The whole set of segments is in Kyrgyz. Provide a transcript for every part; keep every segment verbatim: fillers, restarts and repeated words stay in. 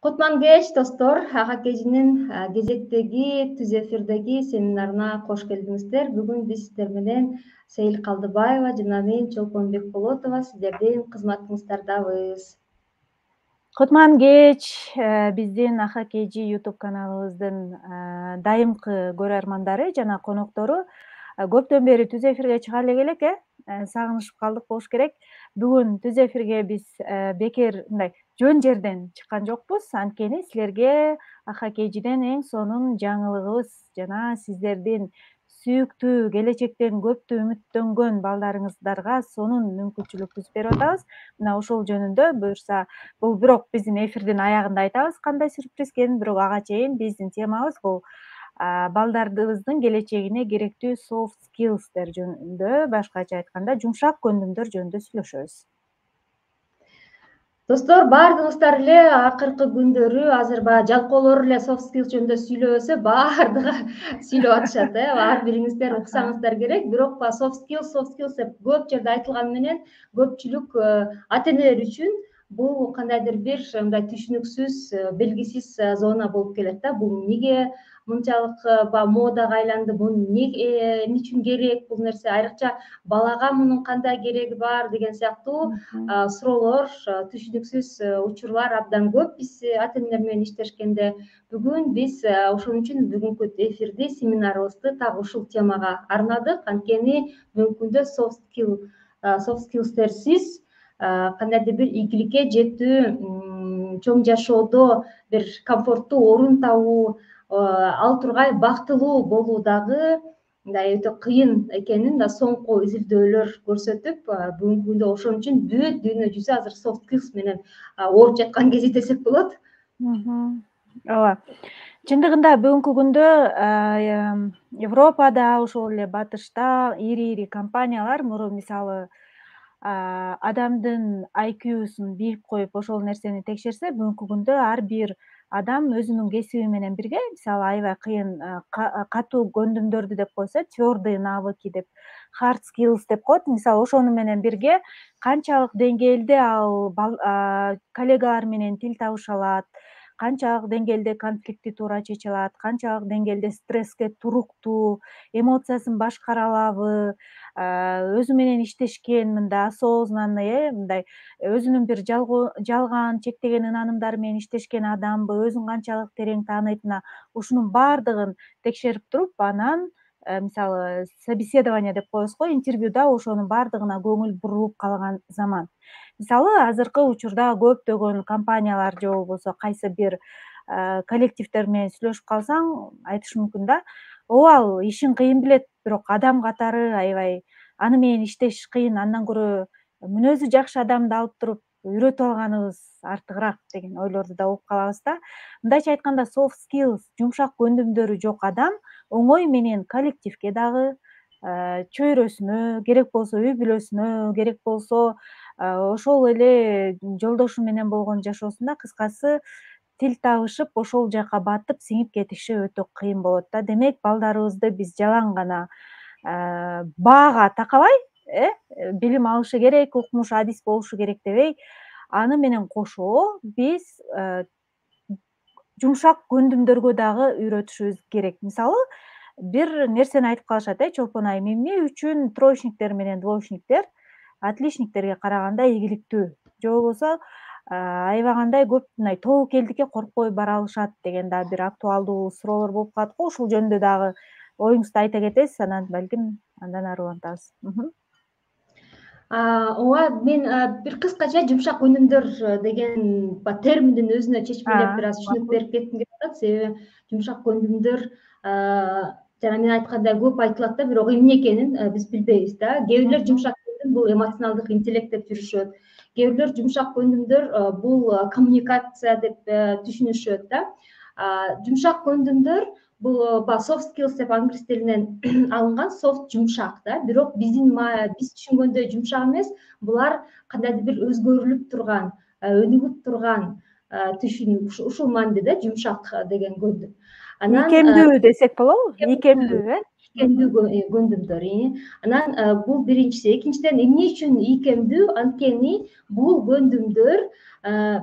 Кутман кеч достор, Ага Кежинин кезектеги түз эфирдеги семинарына кош келдиңиздер. Бүгүн биз сиздер менен Сейил Калдыбаева жана мен Чолпон Бекболотова сиздердин кызматыңыздардабыз. Кутман кеч биздин Ага Кежи YouTube каналыбыздын дайымкы көрөрмандары жана коноктору көптөн бери түз эфирге чыга элек э сагынышып калдык болуш керек. Бүгүн түз эфирге биз бекер мындай жөн жерден чыккан жокпуз. Анткени силерге Ага Кежиден эң сонун жаңылыгыбыз жана сиздердин сүйүктүү келечектен көптү үмүттөнгөн балдарыңыздарга сонун мүмкүнчүлүк түзүп берип атабыз. Мына ошол жөнүндө буюрса, бул бирок биздин эфирдин аягында айтабыз кандай сюрприз экенин, бирок ага чейин биздин темабыз бул балдарыбыздын келечегине керектүү soft skills'тер жөнүндө, башкача айтканда жумшак көндүмдөр жөнүндө сүйлөшөбүз. Достор, баардыгыңыздар эле акыркы күндөрү азыр баягы жалкоолор эле soft skills жөнүндө сүйлөбөсө, баардыгы сүйлөп атышат э. Ар бириңиздер уксаңыздар керек. Бирок баягы soft skills, soft skills деп көп жерде айтылганы менен көпчүлүк ата энелер үчүн бул кандайдыр бир мындай түшүнүксүз, белгисиз зона болуп келет да. Бул эмнеге мынчалык баягы модага айланды, бул эмне үчүн керек бул нерсе, айрыкча балага мунун кандай кереги бар деген сыяктуу суроолор, түшүнүксүз учурлар абдан көп биз ата энелер менен иштешкенде. Бүгүн биз ошон үчүн бүгүнкү эфирди, семинарыбызды так ушул темага арнадык. Анткени бүгүнкү күндө soft skill, soft skills'терсиз кандайдыр бир ийгиликке жетүү, чоң жашоодо бир комфорттуу орун табуу, ал тургай бактылуу болуу дагы мындай өтө кыйын экенин да соңку изилдөөлөр көрсөтүп, бүгүнкү күндө ошон үчүн бүт дүйнө жүзү азыр soft skills менен ооруп жаткан кези десек болот. Ооба. Чындыгында бүгүнкү күндө Европада, ошол эле Батышта ири-ири компаниялар мисалы адамдын ай кьюсун бийлеп коюп ошол нерсени текшерсе, бүгүнкү күндө ар бир адам өзүнүн кесиби менен бирге, мисалы аябай кыйын катуу көндүмдөрдү деп койсо, твёрдые навыки деп, hard skills деп коет. Мисалы ошону менен бирге канчалык деңгээлде ал коллегалар менен тил табыша алат, канчалык деңгээлде конфликтти туура чече алат, канчалык деңгээлде стресске туруктуу, эмоциясын башкара алабы, өзү менен иштешкен мындай осознанный э мындай өзүнүн бир жалган, чектеген ынанымдары менен иштешкен адамбы, өзүн канчалык терең тааныйт, мына ушунун баардыгын текшерип туруп, анан мисалы собеседование деп коебуз го, интервьюда ошонун баардыгына көңүл бурулуп калган заман. Мисалы азыркы учурда көптөгөн компаниялар же болбосо кайсы бир коллективдер менен сүйлөшүп калсаң, айтышы мүмкүн да, ооба ал ишин кыйын билет, бирок адам катары аябай аны менен иштеш кыйын, андан көрө мүнөзү жакшы адамды алып туруп үйрөтүп алганыбыз артыгыраак деген ойлорду да угуп калабыз да. Мындайча айтканда soft skills, жумшак көндүмдөрү жок адам оңой менен коллективге дагы, чөйрөсүнө, керек болсо үй бүлөсүнө, керек болсо ошол эле жолдошу менен болгон жашоосунда, кыскасы тил табышып, ошол жака батып, сиңип кетиши өтө кыйын болот да. Демек, балдарыбызды биз жалаң гана баага такабай, э билим алышы керек, укмуш адис болушу керек дебей, аны менен кошо биз жумшак көндүмдөргө дагы үйрөтүшүбүз керек. Мисалы, бир нерсени айтып калышат э Чолпон айым, эмне үчүн троечниктер менен двоечниктер отличниктерге караганда ийгиликтүү, же болбосо аябагандай көп мындай тобокелдикке коркпой бара алышат деген да бир актуалдуу суроолор болуп калат го. Ушул жөнүндө дагы оюңузду айта кетесиз, анан балким андан ары улантабыз. Ооба, мен бир кыскача жумшак көндүмдөр деген терминдин өзүнө чечмелеп бир аз түшүнүк берип кетким келип атат. Себеби жумшак көндүмдөр жана мен айткандай көп айтылат да, бирок эмне экенин биз билбейбиз да. Кээ бирлер жумшак көндүм бул эмоционалдык интеллект деп жүрүшөт. Кээ бирлер жумшак көндүмдөр бул коммуникация деп түшүнүшөт да. Жумшак көндүмдөр бул баягы soft skills деп англис тилинен алынган, soft жумшак да. Бирок биздин биз түшүнгөндөй жумшак эмес, булар кандайдыр бир өзгөрүлүп турган, өнүгүп турган түшүнүк. Ушул мааниде да жумшак деген көндүм. Ийкемдүү десек болобу? Ийкемдүү, э? ийкемдүү көндүмдөр. Анан бул биринчиси. Экинчиден, эмне үчүн ийкемдүү? Анткени бул көндүмдөр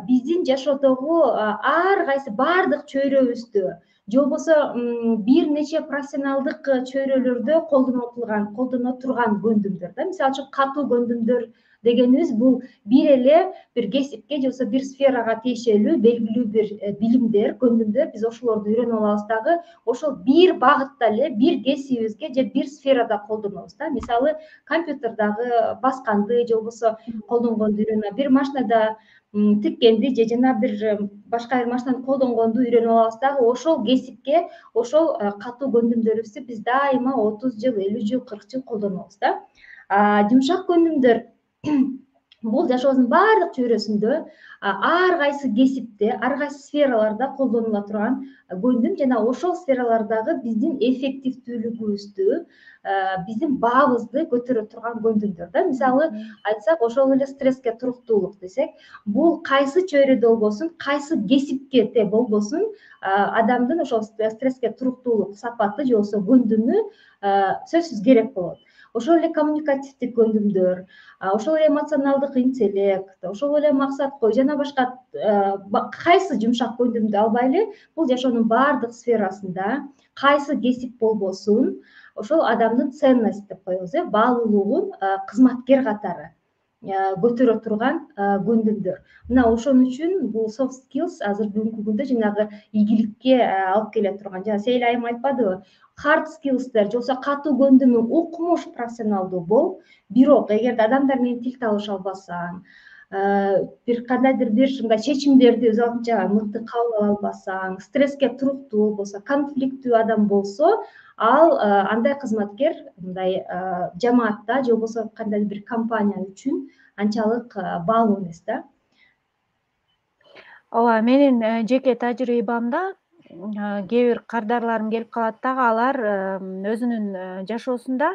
биздин жашоодогу ар кайсы баардык чөйрөбүздө же болбосо бир нече профессионалдык чөйрөлөрдө колдонулган, колдоно турган көндүмдөр да. Мисалы үчүн катуу көндүмдөр дегенибиз бул бир эле бир кесипке же болбосо бир сферага тиешелүү белгилүү бир билимдер, көндүмдөр. Биз ошолорду үйрөнүп алабыз дагы ошол бир багытта эле, бир кесибибизге же бир сферада колдонобуз да. Мисалы, компьютердагы басканды же болбосо колдонгонду үйрөнүп, бир машинада тиккенди же жана бир башка бир машинаны колдонгонду үйрөнүп алабыз дагы ошол кесипке ошол катуу көндүмдөрүбүздү биз дайыма отуз жыл, элүү жыл, кырк жыл колдонобуз да. Жумшак көндүмдөр бул жашообуздун баардык чөйрөсүндө ар кайсы кесипте, ар кайсы сфераларда колдонула турган көндүм жана ошол сфералардагы биздин эффективдүүлүгүбүздү, биздин баабызды көтөрө турган көндүмдөр да. Мисалы айтсак, ошол эле стресске туруктуулук десек, бул кайсы чөйрөдө болбосун, кайсы кесипте болбосун, адамдын ошол стресске туруктуулук сапаты же болбосо көндүмү сөзсүз керек болот. Ошол эле коммуникативдик көндүмдөр, ошол эле эмоционалдык интеллект, ошол эле максаткой жана башка кайсы жумшак көндүмдү албайлы, бул жашоонун баардык сферасында кайсы кесип болбосун, ошол адамдын ценность деп коебуз э, баалуулугун кызматкер катары көтөрө турган көндүмдөр. Мына ошон үчүн бул soft skills азыр бүгүнкү күндө жанагы ийгиликке алып келе турган, жана Сейил айым айтпадыбы, hard skillsдер же болбосо катуу көндүмү укмуш профессионалдуу бол, бирок эгерде адамдар менен тил табыша албасаң, бир кандайдыр бир ушундай чечимдерди өз алдынча мыкты кабыл ала албасаң, стресске туруктуу болбосо, конфликттүү адам болсо, ал андай кызматкер мындай жамаатта же болбосо кандайдыр бир компания үчүн анчалык баалуу эмес да. Ооба, менин жеке тажрыйбамда кээ бир кардарларым келип калат дагы, алар өзүнүн жашоосунда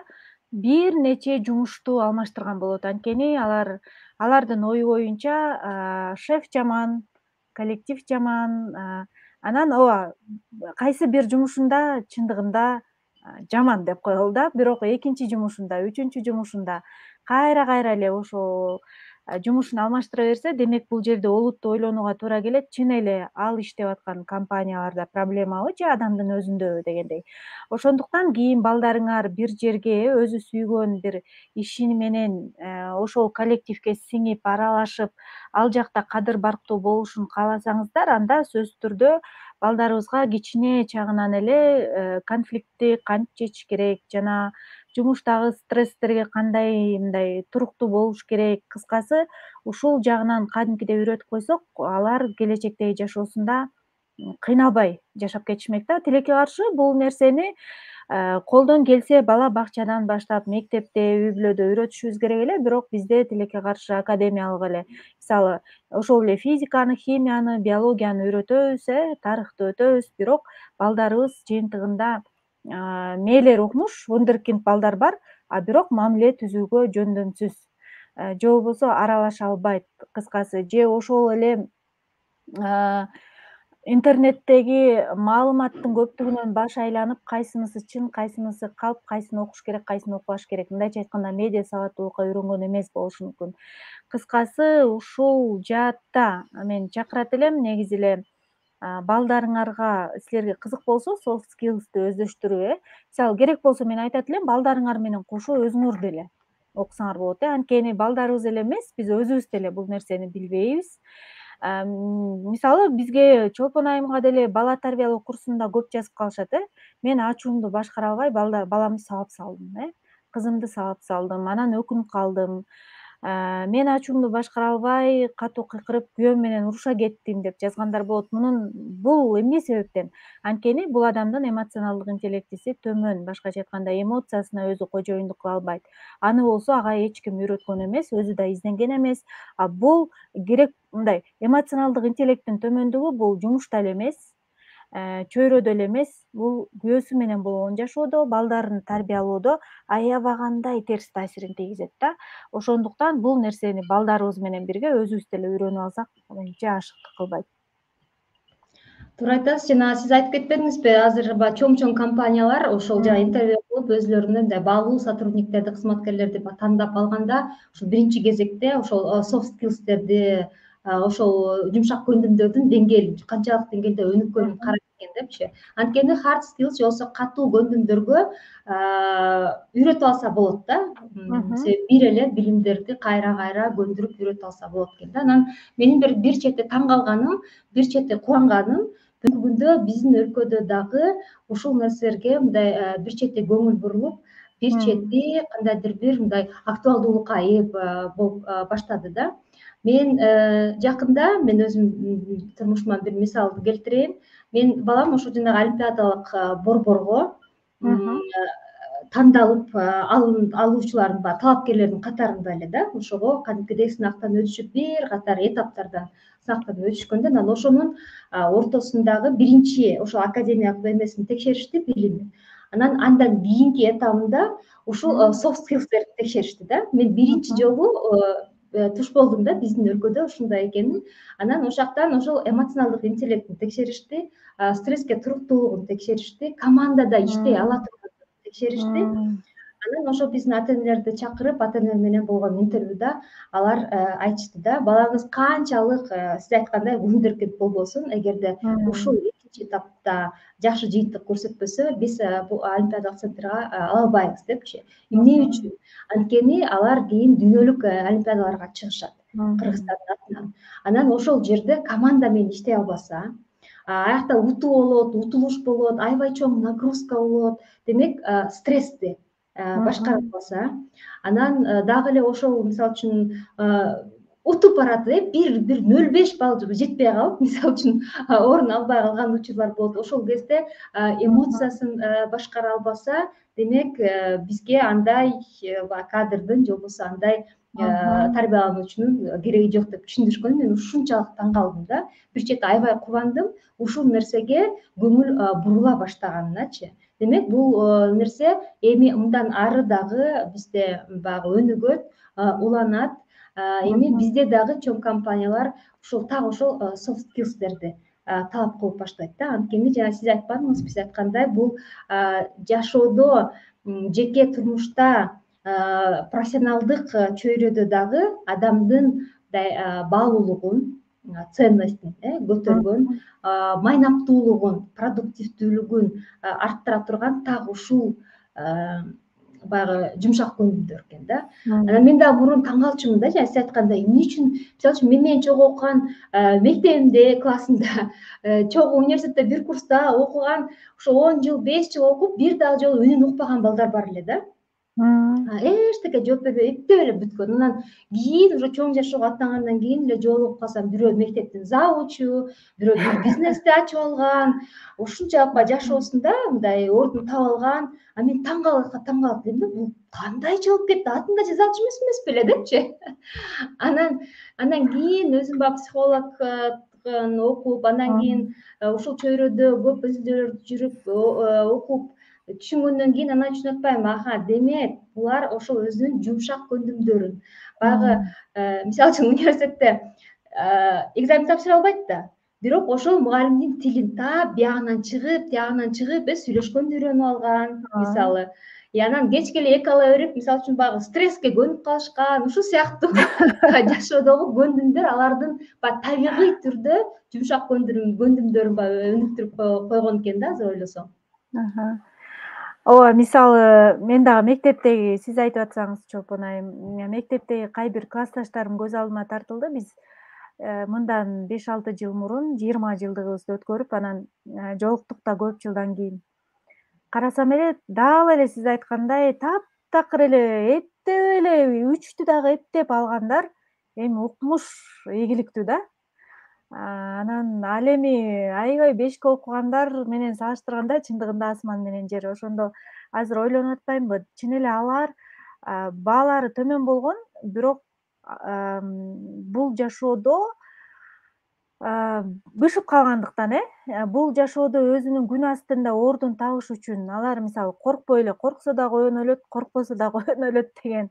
бир нече жумушту алмаштырган болот. Анткени алар алардын ою боюнча шеф жаман, коллектив жаман, анан ооба кайсы бир жумушунда чындыгында жаман деп коелу да, бирок экинчи жумушунда, үчүнчү жумушунда кайра кайра эле ошол жумушун алмаштыра берсе, демек бул жерде олуттуу ойлонууга туура келет. Чын эле ал иштеп аткан компанияларда проблемабы же адамдын өзүндөбү дегендей. Ошондуктан кийин балдарыңар бир жерге өзү сүйгөн бир иши менен ошол коллективге сиңип, аралашып, ал жакта кадыр барктуу болушун кааласаңыздар, анда сөзсүз түрдө балдарыбызга кичине чагынан эле конфликтти кантип чечиш керек жана жумуштагы стресстерге кандай мындай туруктуу болуш керек, кыскасы ушул жагынан кадимкидей үйрөтүп койсок, алар келечектеги жашоосунда кыйналбай жашап кетишмек да. Тилекке каршы бул нерсени колдон келсе бала бакчадан баштап, мектепте, үй бүлөдө үйрөтүшүбүз керек эле, бирок бизде тилекке каршы академиялык эле, мисалы, ошол эле физиканы, химияны, биологияны үйрөтөбүз, э, тарыхты өтөбүз, бирок балдарыбыз жыйынтыгында мээлери укмуш, вундеркинд балдар бар, а бирок мамиле түзүүгө жөндөмсүз, же болбосо аралаша албайт, кыскасы, же ошол эле интернеттеги маалыматтын көптүгүнөн баш айланып, кайсынысы чын, кайсынысы калп, кайсыны окуш керек, кайсыны окубаш керек, мындайча айтканда медиа сабаттуулукка үйрөнгөн эмес болушу мүмкүн. Кыскасы, ушул жаатта мен чакырат элем, негизи эле балдарыңарга, силерге кызык болсо, soft skills'ты өздөштүрүү, э, мисалы керек болсо мен айтат элем, балдарыңар менен кошо өзүңөр деле окусаңар болот, э, анткени балдарыбыз эле эмес, биз өзүбүз деле бул нерсени билбейбиз. Мисалы, бизге Чолпон айымга деле бала тарбиялоо курсунда көп жазып калышат, э, мен ачуумду башкара албай баламды сабап салдым, э, кызымды сабап салдым, анан өкүнүп калдым. Мен ачуумду башкара албай, катуу кыйкырып, күйөөм менен уруша кеттим деп жазгандар болот. Мунун бул эмне себептен? Анткени бул адамдын эмоционалдык интеллектиси төмөн, башкача айтканда эмоциясына өзү кожоюндук кыла албайт. Аны болсо ага эч ким үйрөткөн эмес, өзү да изденген эмес. А бул керек мындай эмоционалдык интеллекттин төмөндүгү бул жумушта эле эмес, чөйрөдө эле эмес, бул күйөөсү менен болгон жашоодо, балдарын тарбиялоодо аябагандай терс таасирин тийгизет да. Ошондуктан бул нерсени балдарыбыз менен бирге өзүбүз деле үйрөнүп алсак, менимче ашыктык кылбайт. Туура айтасыз. Жана сиз айтып кетпедиңизби, азыр баягы чоң-чоң компаниялар ошол жана интервью кылып өзлөрүнө мындай баалуу сотрудниктерди, кызматкерлерди тандап алганда ошол биринчи кезекте ошол soft skills'терди, ошол жумшак көндүмдөрдүн деңгээлин, канчалык деңгээлде өнүккөнүн карайт экен депчи. Анткени hard skills же болбосо катуу көндүмдөргө үйрөтүп алса болот да. Себеби бир эле билимдерди кайра кайра көндүрүп үйрөтүп алса болот экен да. Анан менин бир бир чети таң калганым, бир чети кубанганым бүгүнкү күндө биздин өлкөдө дагы ушул нерселерге мындай бир чети көңүл бурулуп, бир чети кандайдыр бир мындай актуалдуулукка ээ болуп баштады да. Мен жакында мен өзүм турмушуман бир мисалды келтирейин. Менин балам ошо жанагы олимпиадалык борборго тандалып алуучулардын баягы талапкерлердин катарында эле да. Ошого кадимкидей сынактан өтүшүп, бир катар этаптардан сынактан өтүшкөндө анан ошонун ортосундагы биринчи ошол академиялык эмесин текшеришти, билимин. Анан андан кийинки этабында ушул soft skills'терди текшеришти да. Мен биринчи жолу туш болдум да биздин өлкөдө ушундай экенин. Анан ошоктон ошол эмоционалдык интеллектин текшеришти, стресске туруктуулугун текшеришти, командада иштей ала тургандыгын текшеришти. Анан ошо биздин ата энелерди чакырып, ата энелер менен болгон интервьюда алар айтышты да, балаңыз канчалык сиз айткандай вундеркинд болбосун, эгерде ушул экинчи этапта жакшы жыйынтык көрсөтпөсө, биз бул олимпиадалык центрга ала албайбыз депчи. Эмне үчүн? Анткени алар кийин дүйнөлүк олимпиадаларга чыгышат Кыргызстандын атынан. Анан ошол жерде команда менен иштей албаса, аякта утуу болот, утулуш болот, аябай чоң нагрузка болот. Демек, стрессти башкара албаса, анан дагы эле ошол мисалы үчүн утуп барат, бир бир нөл беш балл жетпей калып, мисалы үчүн орун албай калган учурлар болот. Ошол кезде эмоциясын башкара албаса, демек бизге андай кадрдын же болбосо андай тарбиялануучунун кереги жок деп түшүндүрүшкөн. Мен ушунчалык таң калдым да. Бир чети аябай кубандым ушул нерсеге көңүл бурула баштаганыначы. Демек, бул нерсе эми мындан ары дагы бизде баягы өнүгөт, уланат. Эми бизде дагы чоң компаниялар ушул так ошол soft skills'терди талап кылып баштайт да. Анткени жана сиз айтпадыңызбы, сиз айткандай бул жашоодо, жеке турмушта, профессионалдык чөйрөдө дагы адамдын мындай баалуулугун, ценностин көтөргөн, майнаптуулугун, продуктивдүүлүгүн арттыра турган так ушул баягы жумшак көндүмдөр экен да. Анан мен дагы мурун таң калчумун да, жана сиз айткандай, эмне үчүн, мисалы үчүн мен менен чогуу окуган мектебимде, классымда, чогуу университетте бир курста окуган, ошо он жыл, беш жыл окуп, бир дагы жолу үнүн укпаган балдар бар эле да. Эчтеке жооп бербей эптеп эле бүткөн. Анан кийин уже чоң жашоого аттангандан кийин эле жолугуп калсам, бирөө мектептин завучу, бирөө бир бизнести ачып алган, ушунчалык баягы жашоосунда мындай ордун таап алган. А мен таң калып, таң калып элем да, бул кандай жооп кетти, атын да жаза алчу эмес беле депчи. Анан андан кийин өзүм баягы психологдун окуп, андан кийин ушул чөйрөдө көп изилдөөлөрдү жүрүп, окуп түшүнгөндөн кийин анан түшүнүп атпайм, аха, демек булар ошол өзүнүн жумшак көндүмдөрүн баягы мисалы үчүн университетте экзамен тапшыра албайт да, бирок ошол мугалимдин тилин таап, биягынан чыгып, тиягынан чыгып, сүйлөшкөндү үйрөнүп алган мисалы. И анан кечке эле эки ала берип, мисалы үчүн баягы стресске көнүп калышкан, ушул сыяктуу жашоодогу көндүмдөр алардын баягы табигый түрдө жумшак көндүмдөрүн баягы өнүктүрүп койгон экен да, азыр ойлосом. Ооба, мисалы мен дагы мектептеги, сиз айтып атсаңыз Чолпон айым, мектептеги кайбир классташтарым көз алдыма тартылды. Биз мындан беш алты жыл мурун жыйырма жылдыгыбызды өткөрүп, анан жолуктук да көп жылдан кийин. Карасам эле, дагы эле сиз айткандай таптакыр эле эптеп эле үчтү дагы эптеп алгандар эми укмуш ийгиликтүү да. Анан ал эми аябай бешке окугандар менен салыштырганда чындыгында асман менен жер. Ошондо азыр ойлонуп атпаймынбы, чын эле алар баалары төмөн болгон, бирок бул жашоодо бышып калгандыктан, э, бул жашоодо өзүнүн күн астында ордун табыш үчүн алар мисалы коркпой эле, корксо дагы ойгоно өлөт, коркпосо дагы ойгоно өлөт деген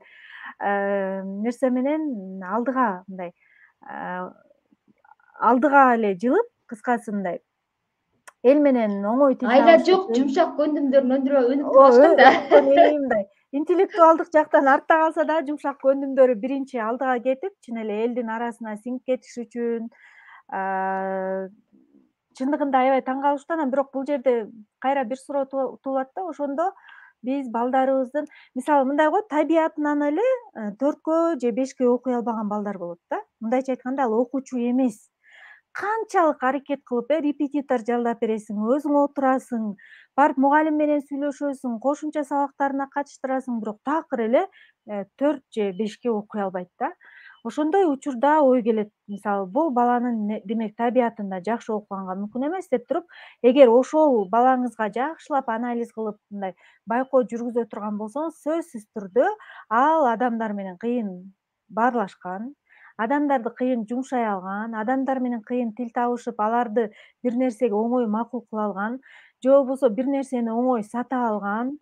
нерсе менен алдыга мындай алдыга эле жылып, кыскасы мындай эл менен оңой тил Айла табышып жок, жумшак көндүмдөрүн өндүрө өнүктүрүп Ооба, атышкан да. өнүктүрүп мындай интеллектуалдык жактан артта калса да, жумшак көндүмдөрү биринчи алдыга кетип, чын эле элдин арасына сиңип кетиш үчүн чындыгында аябай таң калыштуу. Анан бирок бул жерде кайра бир суроо туулат да, ошондо биз балдарыбыздын мисалы мындай го, табиятынан эле төрткө же бешке окуй албаган балдар болот да. Мындайча айтканда ал окуучу эмес. Канчалык аракет кылып, э, репетитор жалдап бересиң, өзүң отурасың, барып мугалим менен сүйлөшөсүң, кошумча сабактарына катыштырасың, бирок такыр эле төрт же бешке окуй албайт да. Ошондой учурда ой келет, мисалы бул баланын демек табиятында жакшы окуганга мүмкүн эмес деп туруп, эгер ошол балаңызга жакшылап анализ кылып, мындай байкоо жүргүзө турган болсоңуз, сөзсүз түрдө ал адамдар менен кыйын баарлашкан, адамдарды кыйын жумшай алган, адамдар менен кыйын тил табышып, аларды бир нерсеге оңой макул кыла алган, же болбосо бир нерсени оңой сата алган,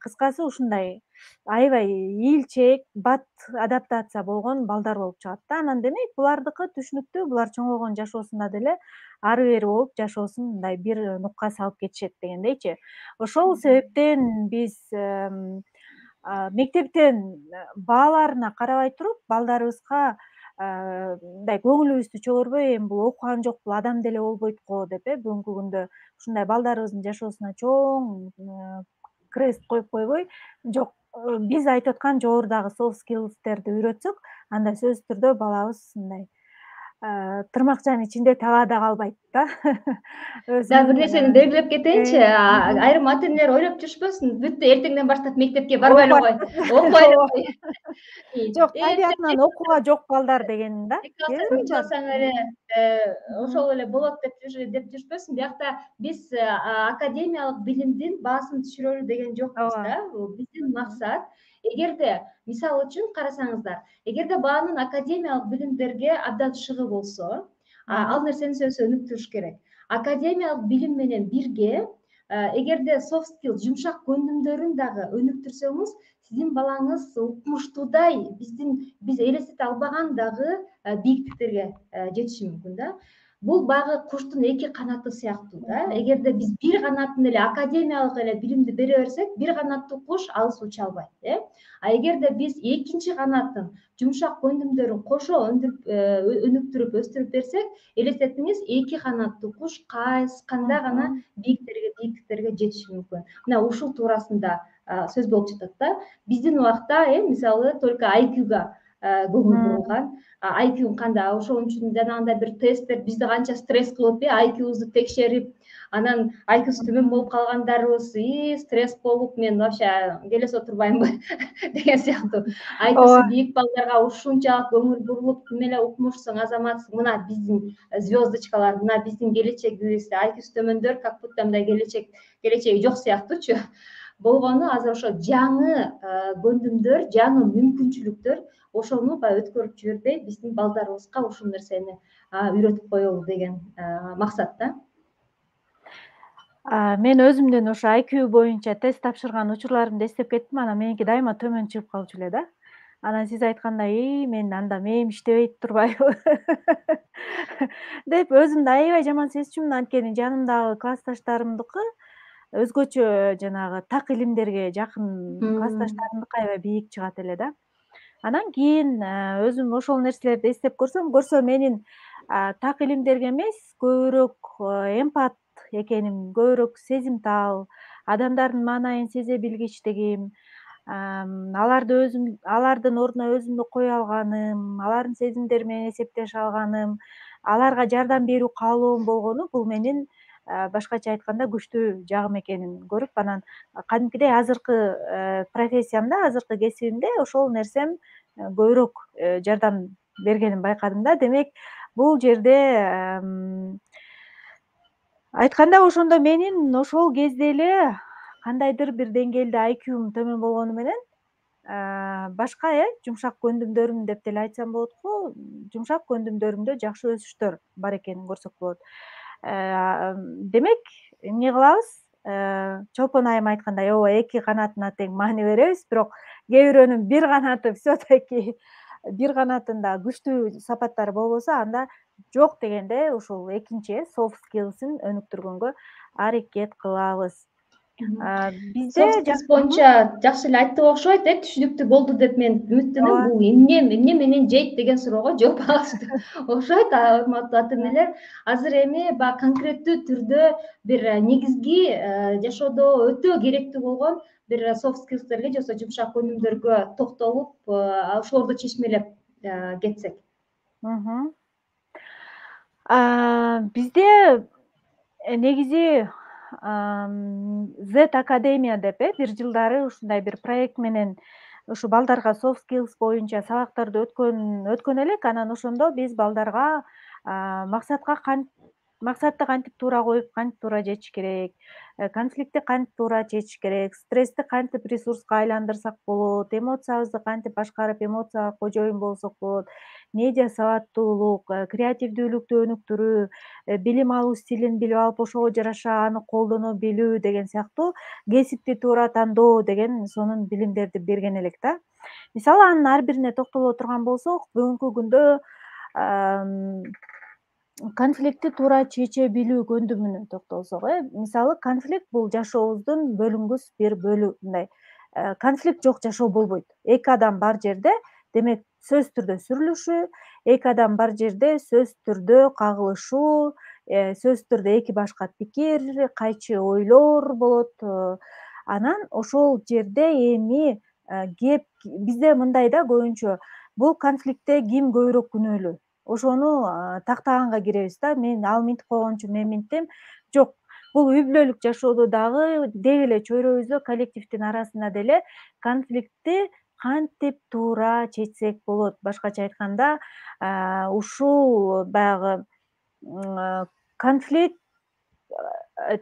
кыскасы ушундай аябай ийилчээк, бат адаптация болгон балдар болуп чыгат да. Анан демек булардыкы түшүнүктүү, булар чоңойгон жашоосунда деле ары бери болуп жашоосун мындай бир нукка салып кетишет дегендейчи. Ошол себептен биз мектептен бааларына карабай туруп, балдарыбызга мындай көңүлүбүздү чөгөрбөй, эми бул окуган жок, бул адам деле болбойт го деп, э, бүгүнкү күндө ушундай балдарыбыздын жашоосуна чоң крест коюп койбой, жок, биз айтып аткан жогорудагы soft skills'терди үйрөтсөк, анда сөзсүз түрдө балабыз мындай тырмакчанын ичинде талаада калбайт да. Да, бир нерсени белгилеп кетейинчи, Мхм. айрым ата энелер ойлоп жүрүшпөсүн, бүттү эртеңден баштап мектепке барбай эле кой, окубай эле кой. Жок, табиятынан окууга жок балдар деген да. Эки алсаң, үч алсаң эле ошол эле болот деп деп жүрүшпөсүн. Биякта биз академиялык билимдин баасын түшүрөлү деген жокпуз да. Биздин максат, эгерде мисалы үчүн карасаңыздар, эгерде баанын академиялык билимдерге абдан шыгы болсо, ал нерсени сөзсүз өнүктүрүш керек. Академиялык билим менен бирге, эгерде soft skill, жумшак көндүмдөрүн дагы өнүктүрсөңүз, сиздин балаңыз укмуштуудай, биздин биз элестете албаган дагы бийиктиктерге жетиши мүмкүн да. Бул багы куштун эки канаты сыяктуу да. Эгерде биз бир канатын эле академиялык эле билимди бере берсек, бир канаттуу куш алыс уча албайт, э. А эгерде биз экинчи канатын, жумшак көндүмдөрүн кошо өнүктүрүп, өстүрүп берсек, элестетиңиз, эки канаттуу куш кандай гана бийиктерге, бийиктиктерге жетиши мүмкүн. Мына ушул туурасында сөз болуп жатат да. Биздин убакта, э, мисалы только ай кьюга көңүл бурулган. ай кью кандай, ошон үчүн жанагындай бир тесттер бизди канча стресс кылып, э, ай кьюбузду текшерип, анан ай кьюсу төмөн болуп калгандарыбыз, и стресс болуп, мен вообще келесе отурбаймынбы деген сыяктуу. ай кьюсу бийик балдарга ушунчалык көңүл бурулуп, тим эле укмушсуң, азаматсың, мына биздин звездочкалар, мына биздин келечегибиз, ай кьюсу төмөндөр, как будто мындай келечек, келечеги жок сыяктуучу болгону, азыр ошо жаңы көндүмдөр, жаңы мүмкүнчүлүктөр, ошону баягы өткөрүп жибербей, биздин балдарыбызга ушул нерсени үйрөтүп коелу деген максат да. Мен өзүмдүн ошо ай кью боюнча тест тапшырган учурларымды эстеп кеттим, анан меники дайыма төмөн чыгып калчу эле да. Анан сиз айткандай, мен анда мээм иштебейт турбайбы деп өзүмдү аябай жаман сезчүмүн. Анткени жанымдагы классташтарымдыкы өзгөчө жанагы так илимдерге жакын классташтарымдыкы аябай бийик чыгат эле да. Анан кийин өзүм ошол нерселерди эстеп көрсөм, көрсө менин так илимдерге эмес, көбүрөөк эмпат экеним, көбүрөөк сезимтал, адамдардын маанайын сезе билгичтигим, аларды өзүм, алардын ордуна өзүмдү кое алганым, алардын сезимдери менен эсептеше алганым, аларга жардам берүү каалоом болгону, бул менин башкача айтканда күчтүү жагым экенин көрүп, анан кадимкидей азыркы профессиямда, азыркы кесибимде ошол нерсем көбүрөөк жардам бергенин байкадым да. Демек, бул жерде айтканда, ошондо менин ошол кезде эле кандайдыр бир деңгээлде ай кьюм төмөн болгону менен башка, э, жумшак көндүмдөрүм деп деле айтсам болот го, жумшак көндүмдөрүмдө жакшы өсүштөр бар экенин көрсөк болот. Демек, эмне кылабыз? Чолпон айым айткандай, ооба, эки канатына тең маани беребиз, бирок кээ бирөөнүн бир канаты все-таки бир канатында күчтүү сапаттары болбосо, анда жок дегенде ушул экинчи soft skills'ин өнүктүргөнгө аракет кылабыз. Бизде Soft skills боюнча жакшы эле айттык окшойт, э, түшүнүктүү болду деп мен үмүттөнөм. Ооба. Бул эмне эмне менен жейт деген суроого жооп алышты окшойт, урматтуу ата энелер. Азыр эми баягы конкреттүү түрдө бир негизги жашоодо өтө керектүү болгон бир soft skills'терге же болбосо жумшак өнүмдөргө токтолуп, ошолорду чечмелеп кетсек. Бизде негизи Z Академия деп э бир жылдары ушундай бир проект менен ушу балдарга soft skills боюнча сабактарды өткөн өткөн элек. Анан ошондо биз балдарга максатка максатты кантип туура коюп, кантип туура чечиш керек, конфликтти кантип туура чечиш керек, стрессти кантип ресурска айландырсак болот, эмоциябызды кантип башкарып, эмоцияга кожоюн болсок болот, медиа сабаттуулук, креативдүүлүктү өнүктүрүү, билим алуу стилин билип алып, ошого жараша аны колдоно билүү деген сыяктуу кесипти туура тандоо деген сонун билимдерди берген элек да. Мисалы анын ар бирине токтоло турган болсок, бүгүнкү күндө конфликтти туура чече билүү көндүмүнө токтолсок, э мисалы конфликт бул жашообуздун бөлүнгүс бир бөлүгү. Мындай конфликт жок жашоо болбойт. Эки адам бар жерде, демек сөзсүз түрдө сүрүлүшүү, эки адам бар жерде сөзсүз түрдө кагылышуу, сөзсүз түрдө эки башка пикир, кайчы ойлор болот. Анан ошол жерде эми кеп бизде мындай да көбүнчө бул конфликтте ким көбүрөөк күнөөлүү, ошону тактаганга киребиз да. Мен ал минтип койгон үчүн мен минттим. Жок, бул үй бүлөлүк жашоодо дагы деги эле чөйрөбүздө, коллективдин арасында деле конфликтти кантип туура чечсек болот. Башкача айтканда, ушул баягы конфликт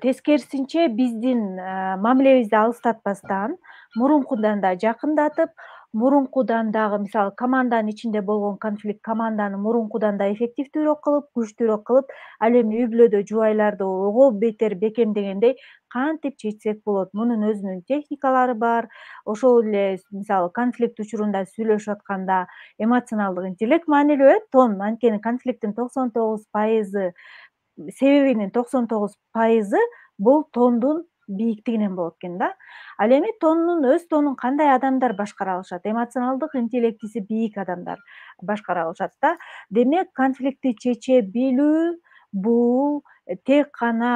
тескерисинче биздин мамилебизди алыстатпастан, мурункудан да жакындатып, мурункудан дагы мисалы команданын ичинде болгон конфликт команданы мурункудан да эффективдүүрөөк кылып, күчтүүрөөк кылып, ал эми үй бүлөдө жубайларды ого бетер бекемдегендей кантип чечсек болот. Мунун өзүнүн техникалары бар. Ошол эле мисалы конфликт учурунда сүйлөшүп атканда эмоционалдык интеллект маанилүү, э тон. Анткени конфликттин токсон тогуз пайызы себебинин токсон тогуз пайызы бул тондун бийиктигинен болот экен да. Ал эми тонун өз тонун кандай адамдар башкара алышат? Эмоционалдык интеллектиси бийик адамдар башкара алышат да. Демек конфликтти чече билүү бул тек гана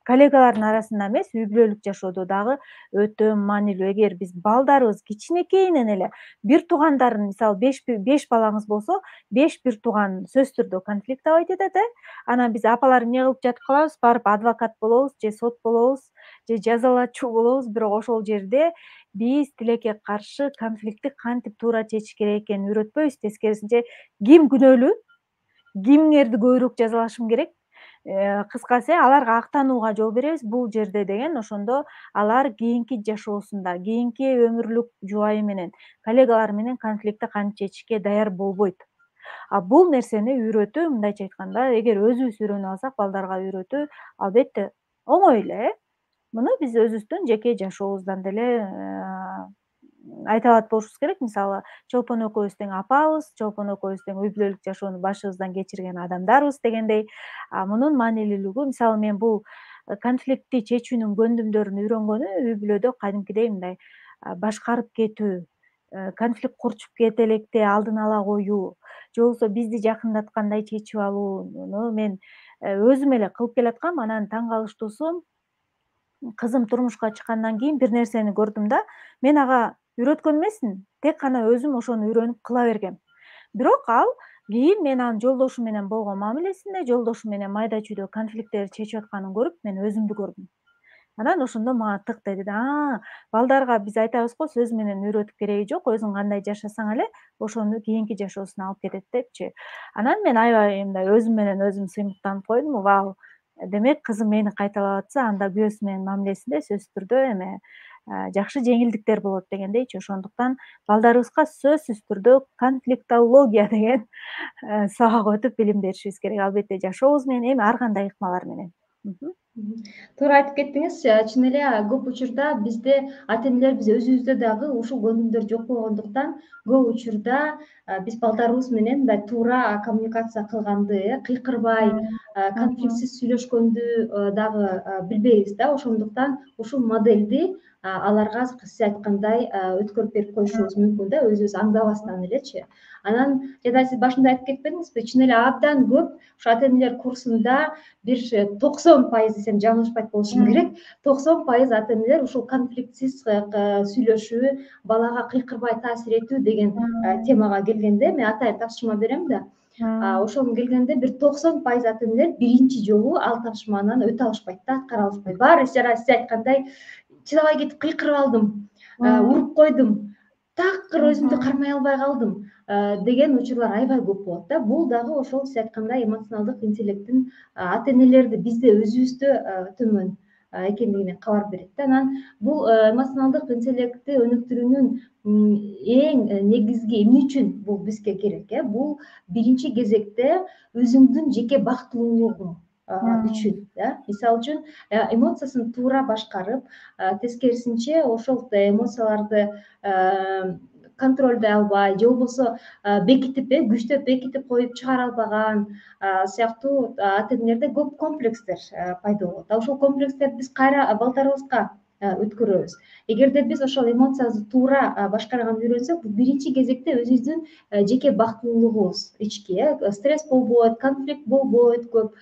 коллегалардын арасында эмес, үй бүлөлүк жашоодо дагы өтө маанилүү. Эгер биз балдарыбыз кичинекейинен эле бир туугандарын, мисалы беш балаңыз болсо, беш бир тууган сөзсүз түрдө конфликт табайт этет, э анан биз апалар эмне кылып жатып калабыз? Барып адвокат болобуз же сот болобуз же жазалачу болобуз. Бирок ошол жерде биз тилекке каршы конфликтти кантип туура чечиш керек экенин үйрөтпөйбүз. Тескерисинче ким күнөөлүү, кимдерди көбүрөөк жазалашым керек, кыскасы аларга актанууга жол беребиз бул жерде деген. Ошондо алар кийинки жашоосунда, кийинки өмүрлүк жубайы менен, коллегалары менен конфликтти кантип чечишке даяр болбойт. А бул нерсени үйрөтүү, мындайча айтканда, эгер өзүбүз үйрөнүп алсак, балдарга үйрөтүү албетте оңой эле, э муну биз өзүбүздүн жеке жашообуздан деле айта алат болушубуз керек. Мисалы, Чолпон экөөбүз тең апабыз, Чолпон экөөбүз тең үй бүлөлүк жашоону башыбыздан кечирген адамдарбыз дегендей. Мунун маанилүүлүгү, мисалы мен бул конфликтти чечүүнүн көндүмдөрүн үйрөнгөнү үй бүлөдө кадимкидей мындай башкарып кетүү, конфликт курчуп кете электе алдын ала коюу, же болбосо бизди жакындаткандай чечип алууну мен өзүм эле кылып келаткам. Анан таң калыштуусу, кызым турмушка чыккандан кийин бир нерсени көрдүм да. Мен ага үйрөткөн эмесмин, тек гана өзүм ошону үйрөнүп кыла бергем. Бирок ал кийин мен анын жолдошу менен болгон мамилесинде, жолдошу менен майда чүйдө конфликттерди чечип атканын көрүп, мен өзүмдү көрдүм. Анан ошондо мага тык деди да. Балдарга биз айтабыз го, сөз менен үйрөтүп кереги жок, өзүң кандай жашасаң эле ошону кийинки жашоосуна алып кетет депчи. Анан мен аябай мындай өзүм менен өзүм сыймыктанып койдум. Вау, демек кызым мени кайталап атса, анда күйөөсү менен мамилесинде сөзсүз түрдө эме жакшы жеңилдиктер болот дегендейчи. Ошондуктан балдарыбызга сөзсүз түрдө конфликтология деген сабак өтүп билим беришибиз керек. Албетте жашообуз менен, эми ар кандай ыкмалар менен. Мгм. Туура айтып кеттиңиз. Э, Чын эле көп учурда бизде ата энелерибиз өзүбүздө дагы ушул көндүмдөр жок болгондуктан көп учурда э, биз балдарыбыз менен мындай туура коммуникация кылганды, э, кыйкырбай, Мм. э, Мгм. конфликтсиз сүйлөшкөндү э, дагы э, билбейбиз да. Ошондуктан ушул модельди а, аларга сиз айткандай э, өткөрүп берип коюшубуз мүмкүн да, өзүбүз аңдабастан элечи. Анан жада сиз башында айтып кетпедиңизби? Чын эле абдан көп ушу ата энелер курсунда бир токсон пайыз десем жаңылышпайт болушум Мм. керек. токсон пайыз ата энелер ушул конфликтсиз э, к- сүйлөшүү, балага кыйкырбай таасир этүү деген э, Мм. темага келгенде мен атайын тапшырма берем да. А, Мм. ошого келгенде бир токсон пайыз ата энелер биринчи жолу ал тапшырманан өтө алышпайт да, аткара алышпайт. Баары жана сиз айткандай чыдабай кетип кыйкырып алдым, э, Мм. уруп койдум, такыр өзүмдү Мгм. кармай албай калдым э, деген учурлар аябай көп болот да. Бул дагы ошол сиз айткандай эмоционалдык интеллекттин ата энелерди бизде өзүбүздө э, төмөн э, экендигинен кабар берет да. Анан бул э, эмоционалдык интеллектти өнүктүрүүнүн м, эң э, негизги эмне үчүн бул бизге керек? Э? Бул биринчи кезекте өзүңдүн жеке бактылуулугуң а, Мм. үчүн. Да? Мисалы үчүн э, эмоциясын туура башкарып, а, тескерисинче ошол эмоцияларды э, контролдой албай же болбосо э, бекитип, э, күчтөп бекитип коюп чыгара албаган а, сыяктуу ата энелерде көп комплекстер э, пайда болот. А ошол комплекстерди биз кайра балдарыбызга э, өткөрөбүз. Эгерде биз ошол эмоциябызды туура а, башкарганды үйрөнсөк, бул биринчи кезекте өзүбүздүн э, жеке бактылуулугубуз ички, э, стресс болбойт, конфликт болбойт көп.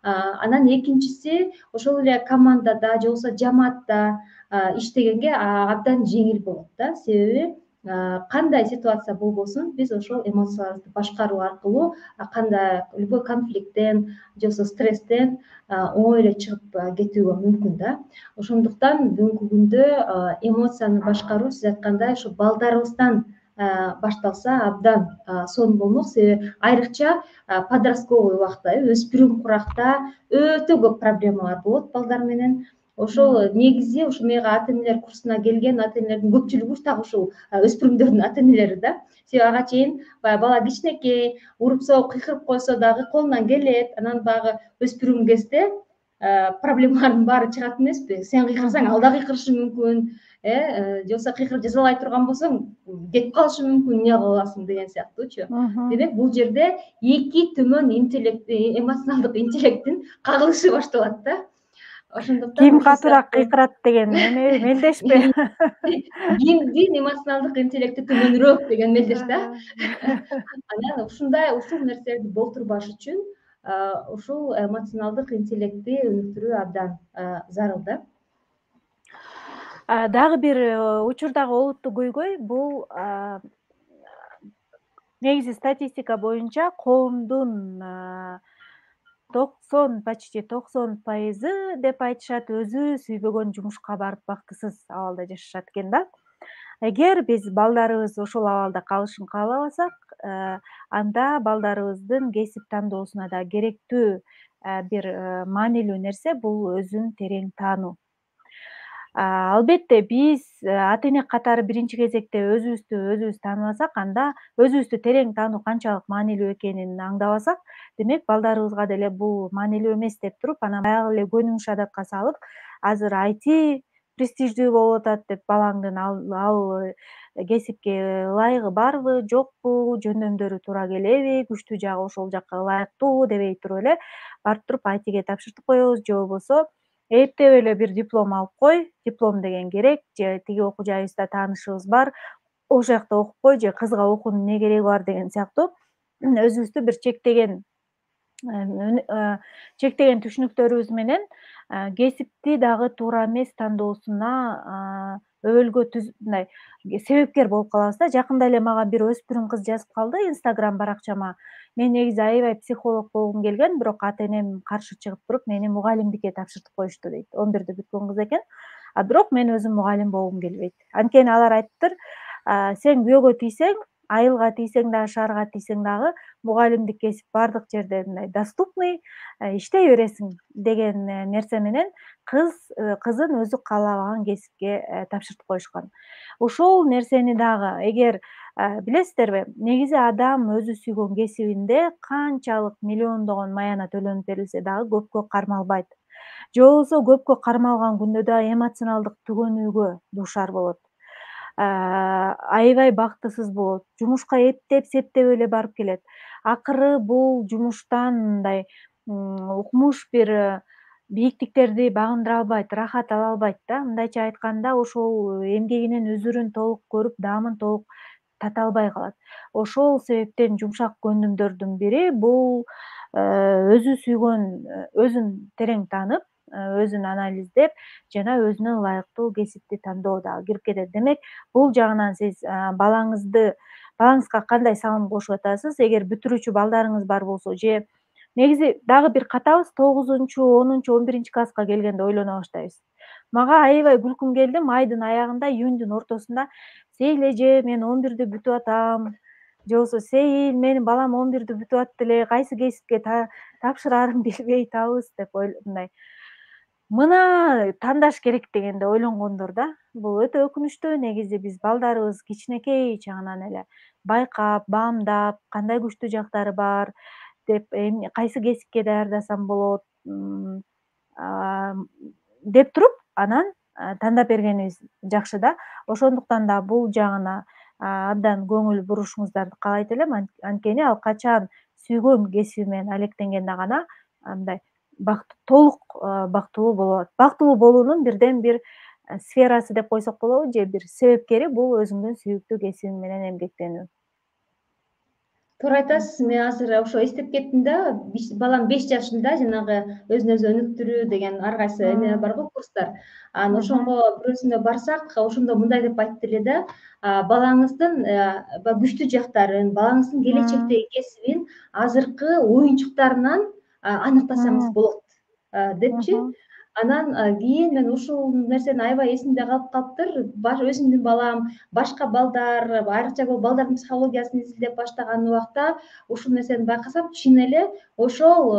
А, Анан экинчиси ошол эле командада же болбосо жамаатта а, иштегенге а, абдан жеңил болот да. Себеби а, кандай ситуация болбосун биз ошол эмоцияларыбызды башкаруу аркылуу а, кандай любой конфликттен же болбосо стресстен а, оңой эле чыгып а, кетүүгө мүмкүн да. Ошондуктан бүгүнкү күндө а, эмоцияны башкаруу сиз айткандай ушу балдарыбыздан а, башталса абдан а, сонун болмок. Себеби айрыкча а, подростковый убакта, э, өспүрүм куракта өтө көп проблемалар болот балдар менен. Ошол Мм. негизи ушу мага ата энелер курсуна келген ата энелердин көпчүлүгү дагы ушул а, өспүрүмдөрдүн ата энелери да. Себеби ага чейин баягы бала кичинекей, уруп соғуп кыйкырып койсо дагы колунан келет. Анан баягы өспүрүм кезде а, проблемалардын баары чыгат эмеспи? Сен кыйкырсаң ал Мгм. да кыйкырышы мүмкүн, э э, же болбосо кыйкырып жазалай турган болсоң кетип калышы мүмкүн, эмне кылып аласың деген сыяктуучу. Мгм. Демек бул жерде эки төмөн интеллект, э, эмоционалдык интеллекттин кагылышы башталат да. Ошондуктан Ким ушул катуураак сыяктуу кыйкырат деген эме мелдешпи? кимдин эмоционалдык интеллекти төмөнүрөөк деген мелдеш да. Э. Анан ушундай ушул нерселерди болтурбаш үчүн а, ушул эмоционалдык интеллектти өнүктүрүү абдан а, зарыл да. А, дагы бир э, учурдагы олуттуу көйгөй бул а, негизи статистика боюнча коомдун а, токсон почти токсон пайызы деп айтышат өзү сүйбөгөн жумушка барып бактысыз абалда жашашат экен да. Эгер биз балдарыбыз ошол абалда калышын каалабасак, э, анда балдарыбыздын кесип тандоосуна да керектүү э, бир э, маанилүү нерсе бул өзүн терең таануу. А, Албетте биз э, ата эне катары биринчи кезекте өзүбүздү өзүбүз тааныбасак, анда өзүбүздү терең таануу канчалык маанилүү экенин аңдабасак, демек балдарыбызга деле бул маанилүү эмес деп туруп, анан баягы эле көнүмүш адатка салып, азыр ай ти престиждүү болуп атат деп балаңдын ал ал э, кесипке ылайыгы барбы, жокпу, жөндөмдөрү туура келеби, күчтүү жагы ошол жакка ылайыктуубу дебей туруп эле барып туруп ай тиге тапшыртып коебуз, же болбосо эптеп эле бир диплом алып кой, диплом деген керек, же тиги окуу жайыбызда таанышыбыз бар, ошол жакта окуп кой, же кызга окуунун эмне кереги бар деген сыяктуу өзүбүздү бир чектеген э, чектеген түшүнүктөрүбүз менен э, кесипти дагы туура эмес тандоосуна өбөлгө мындай себепкер болуп калабыз да. Жакында эле мага бир өспүрүм кыз жазып калды инстаграм баракчама. Мен негизи аябай психолог болгум келген, бирок ата энем каршы чыгып туруп мени мугалимдикке тапшыртып коюшту дейт. он бирди бүткөн кыз экен. А бирок мен өзүм мугалим болгум келбейт. Анткени алар айтыптыр, сен күйөөгө тийсең, айылга тийсең дагы, шаарга тийсең дагы мугалимдик кесип баардык жерде мындай доступный, иштей бересиң деген э, нерсе менен кыз э, кызын өзү каалабаган кесипке э, тапшыртып коюшкан. Ушул нерсени дагы эгер билесиздерби, негизи адам өзү сүйгөн кесибинде канчалык миллиондогон маяна төлөнүп берилсе дагы көпкө кармалбайт. же болбосо көпкө кармалган күндө да эмоционалдык түгөнүүгө дуушар болот. Аябай бактысыз болот. Жумушка эптеп, септеп эле барып келет. Акыры бул жумуштан мындай укмуш бир бийиктиктерди багындыра албайт, рахат ала албайт да. Мындайча айтканда, ошол эмгегинин өзүрүн толук көрүп, даамын толук тата албай калат. Ошол себептен жумшак көндүмдөрдүн бири бул өзү сүйгөн, өзүн терең таанып, өзүн анализдеп жана өзүнө ылайыктуу кесипти тандоо дагы кирип кетет. Демек, бул жагынан сиз балаңызды балаңызга кандай салым кошуп атасыз? Эгер бүтүрүүчү балдарыңыз бар болсо же негизи дагы бир катабыз тогузунчу, онунчу, он биринчи класска келгенде ойлоно баштайбыз. Мага аябай күлкүм келди, майдын аягында, июньдун ортосунда сейил эже, мен он бирди бүтүп атам, же болбосо сейил, менин балам он бирди бүтүп атты эле, кайсы кесипке тапшыраарын билбей атабыз деп мындай мына тандаш керек дегенде ойлонгондор да. Бул өтө өкүнүчтүү. Негизи биз балдарыбыз кичинекей чагынан эле байкап, баамдап, кандай күчтүү жактары бар деп, кайсы кесипке даярдасам болот деп туруп, анан тандап бергенибиз жакшы да. Ошондуктан да бул жагына абдан көңүл бурушуңуздарды каалайт элем. Анткени ал качан сүйгөн кесиби менен алектенгенде гана мындай толук бактылуу болот. Бактылуу болуунун бирден бир сферасы деп койсок болобу, же бир себепкери бул өзүңдүн сүйүктүү кесибиң менен эмгектенүү. Туура айтасыз. Мен азыр ошо эстеп кеттим да, балам беш жашында жанагы өзүн өзү өнүктүрүү деген ар кайсы эме бар го, курстар. Анан ошонго бирөөсүндө барсак, ошондо мындай деп айтты эле да, балаңыздын күчтүү жактарын, балаңыздын келечектеги кесибин азыркы оюнчуктарынан аныктасаңыз болот депчи. Анан кийин мен ушул нерсени аябай эсимде калып калыптыр. Өзүмдүн балам, башка балдар, айрыкча бул балдардын психологиясын изилдеп баштаган убакта ушул нерсени байкасам, чын эле ошол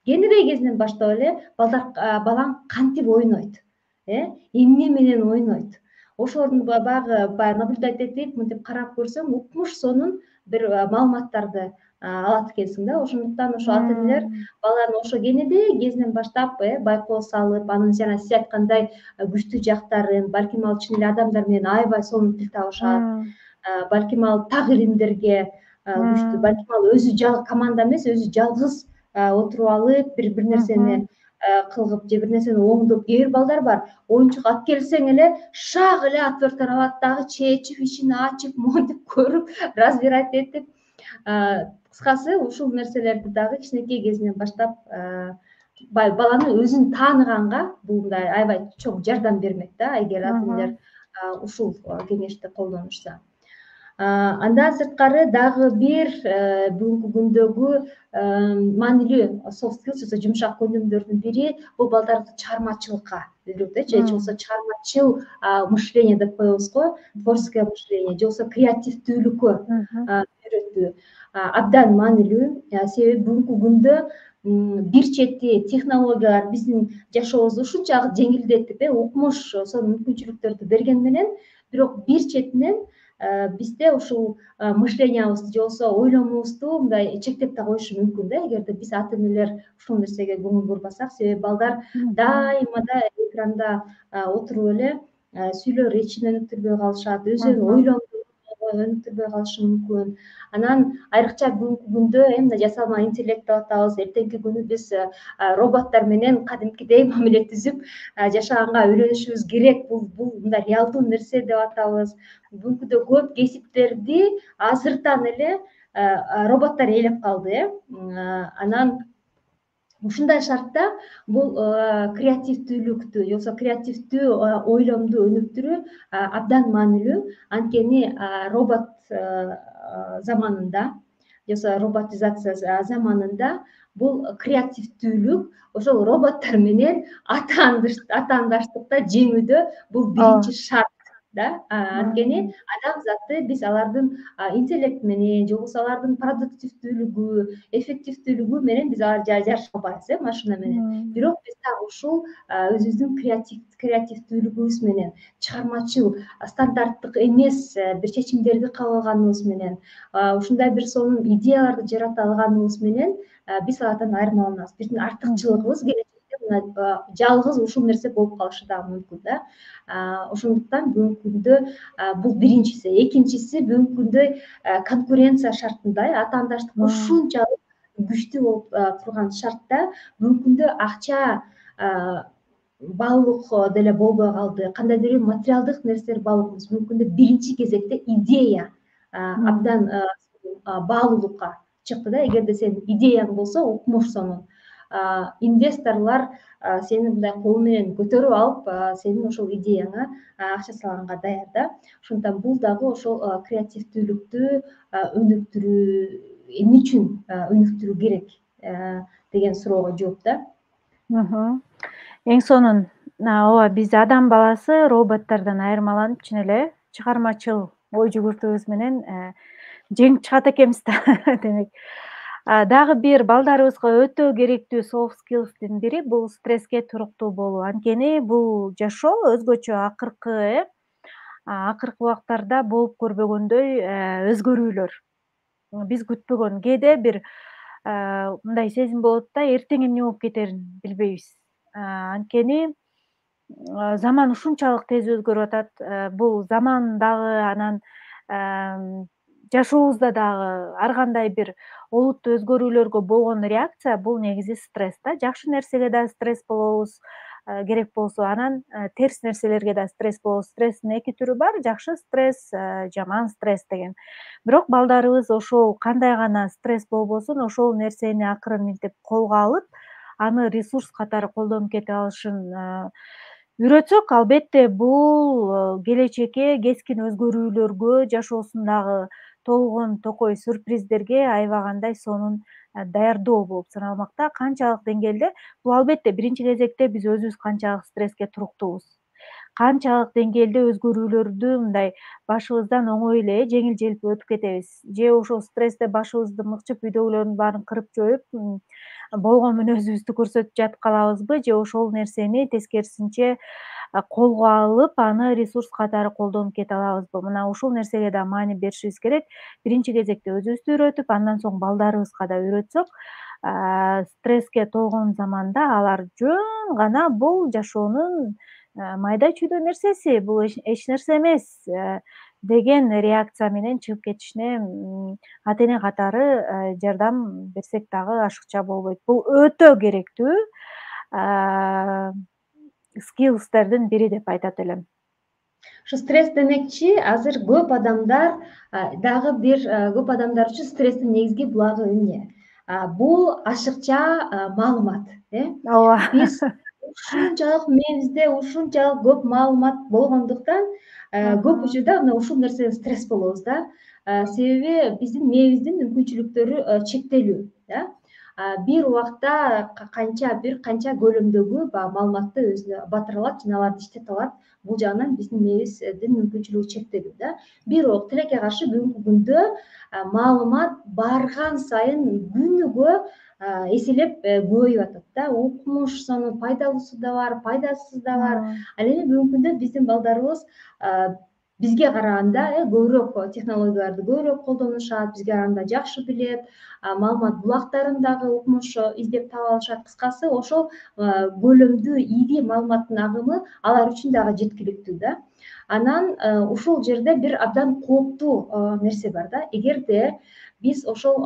кенедей кезинен баштап эле балдар балаң кантип ойнойт, э эмне менен ойнойт, ошолордун баягы баягы наблюдать этип, мынтип карап көрсөң, укмуш сонун бир маалыматтарды алат экенсиң да. Ошондуктан ошо ата энелер баланы ошо кенедей кезинен баштап байкоо салып, анын жана сиз айткандай күчтүү жактарын, балким ал чын эле адамдар менен аябай сонун тил табышат, балким ал так илимдерге күчтүү, балким ал өзү команда эмес, өзү жалгыз отуруп алып, бир бир нерсени кылгып же бир нерсени оңдоп, кээ бир балдар бар, оюнчук алып келсең эле шак эле отвертканы алат дагы чечип, ичин ачып, монтип көрүп, разбирать этип, кыскасы ушул нерселерди дагы кичинекей кезинен баштап баланы өзүн тааныганга бул мындай аябай чоң жардам бермек да, эгер ата энелер ушул кеңешти колдонушса. Андан сырткары дагы бир бүгүнкү күндөгү маанилүү soft skills же жумшак көндүмдөрдүн бири бул балдарды чыгармачылыкка үйрөтөт, же болбосо чыгармачыл мышление деп коебуз го, творческое мышление, же болбосо креативдүүлүккө үйрөтүү абдан маанилүү. Себеби бүгүнкү күндө бир чети технологиялар биздин жашообузду ушунчалык жеңилдетип, укмуш сонун мүмкүнчүлүктөрдү берген менен, бирок бир четинен бизде ушул мышлениябызды же болбосо ойлонуубузду мындай чектеп да коюшу мүмкүн да, эгерде биз ата энелер ушул нерсеге көңүл бурбасак. Себеби балдар дайыма да экранда отуруп эле сүйлөп речин өнүктүрбөй калышат, өздөрүнүн ойлонуун өнүктүрбөй калышы мүмкүн. Анан айрыкча бүгүнкү күндө мына жасалма интеллект деп атабыз, эртеңки күнү биз роботтор менен кадимкидей мамиле түзүп жашаганга үйрөнүшүбүз керек. Бул бул мындай реалдуу нерсе деп атабыз. Бүгүнкү күндө көп кесиптерди азыртан эле роботтор ээлеп калды, э анан ушундай шартта бул креативдүүлүктү же болбосо креативдүү ойломду өнүктүрүү абдан маанилүү. Анткени робот заманында же болбосо роботизация заманында бул креативдүүлүк ошол роботтор менен атаандаштыкта жеңүүдө бул биринчи шарт да. Анткени адам заты биз алардын интеллект менен же болбосо алардын продуктивдүүлүгү, эффективдүүлүгү менен биз аларды жарыша албайбыз, э машина менен. Бирок биз так ушул өзүбүздүн креативдүүлүгүбүз менен, чыгармачыл, стандарттык эмес бир чечимдерди кабыл алганыбыз менен, ушундай бир сонун идеяларды жарата алганыбыз менен биз алардан айырмаланабыз. Биздин артыкчылыгыбыз келечекте жалгыз ушул нерсе болуп калышы дагы мүмкүн да. Ошондуктан бүгүнкү күндө бул биринчиси. Экинчиси бүгүнкү күндө конкуренция шартында атаандаштык ушунчалык күчтүү болуп турган шартта бүгүнкү күндө акча баалуулук деле болбой калды. Кандайдыр бир материалдык нерселер баалуу эмес. Бүгүнкү күндө биринчи кезекте идея абдан баалуулукка чыкты да. Эгерде сенин идеяң болсо, укмуш сонун инвесторлор сени мындай колу менен көтөрүп алып, сенин ошол идеяңа акча салганга даяр да. Ошондуктан бул дагы ошол креативдүүлүктү өнүктүрүү, эмне үчүн өнүктүрүү керек деген суроого жооп да. Эң сонун. Ооба, биз адам баласы роботтордон айырмаланып чын эле чыгармачыл ой жүгүртүүбүз менен жеңип чыгат экенбиз да. Демек, дагы бир балдарыбызга өтө керектүү soft skills'тин бири бул стресске туруктуу болуу. Анткени бул жашоо өзгөчө акыркы э акыркы убактарда болуп көрбөгөндөй өзгөрүүлөр. Биз күтпөгөн кээде бир мындай сезим болот да, эртең эмне болуп кетерин билбейбиз. Анткени заман ушунчалык тез өзгөрүп атат. Бул заман дагы анан жашообузда дагы ар кандай бир олуттуу өзгөрүүлөргө болгон реакция бул негизи стресс да. Жакшы нерсеге да стресс болобуз керек болсо, анан терс нерселерге да стресс болобуз. Стресстин эки түрү бар: жакшы стресс, жаман стресс деген. Бирок балдарыбыз ошол кандай гана стресс болбосун, ошол нерсени акырын минтип колго алып, аны ресурс катары колдонуп кете алышын үйрөтсөк, албетте бул келечекке кескин өзгөрүүлөргө, жашоосундагы толгон токой сюрприздерге аябагандай сонун даярдоо болуп саналмак да. Канчалык деңгээлде? Бул албетте биринчи кезекте биз өзүбүз канчалык стресске туруктуубуз, канчалык деңгээлде өзгөрүүлөрдү мындай башыбыздан оңой эле жеңил-желпи өтүп кетебиз, же ошол стрессте башыбызды мыкчып үйдөгүлөрдүн баарын кырып жоюп, болгон мүнөзүбүздү көрсөтүп жатып калабызбы, же ошол нерсени тескерисинче колго алып, аны ресурс катары колдонуп кете алабызбы? Мына ушул нерсеге да маани беришибиз керек. Биринчи кезекте өзүбүздү үйрөтүп, андан соң балдарыбызга да үйрөтсөк, стресске толгон заманда алар жөн гана бул жашоонун майда чүйдө нерсеси, бул эч нерсе эмес деген реакция менен чыгып кетишине ата эне катары жардам берсек дагы ашыкча болбойт. Бул өтө керектүү скиллстердин бири деп айтат элем. Ушу стресс демекчи, азыр көп адамдар дагы бир көп адамдар үчүн стресстин негизги булагы эмне? Бул ашыкча маалымат, э? Ооба. Биз ушунчалык мээбизде ушунчалык көп маалымат болгондуктан көп учурда мына ушул нерседен стресс болобуз да. Себеби биздин мээбиздин мүмкүнчүлүктөрү чектелүү, да. Бир убакта канча бир канча көлөмдөгү баягы маалыматты өзүнө батыра алат жана аларды иштете алат. Бул жагынан биздин мээбиздин мүмкүнчүлүгү чектелүү да. Бирок тилекке каршы бүгүнкү күндө маалымат барган сайын күнүгө эселеп көбөйүп атат да. Укмуш сонун пайдалуусу да бар, пайдасызы да бар. Ал эми бүгүнкү күндө биздин балдарыбыз бизге караганда көбүрөөк технологияларды көбүрөөк колдонушат, бизге караганда жакшы билет, маалымат булактарын дагы укмуш издеп таап алышат. Кыскасы ошол көлөмдүү ири маалыматтын агымы алар үчүн дагы жеткиликтүү да. Анан ушул жерде бир абдан кооптуу нерсе бар да. Эгерде биз ошол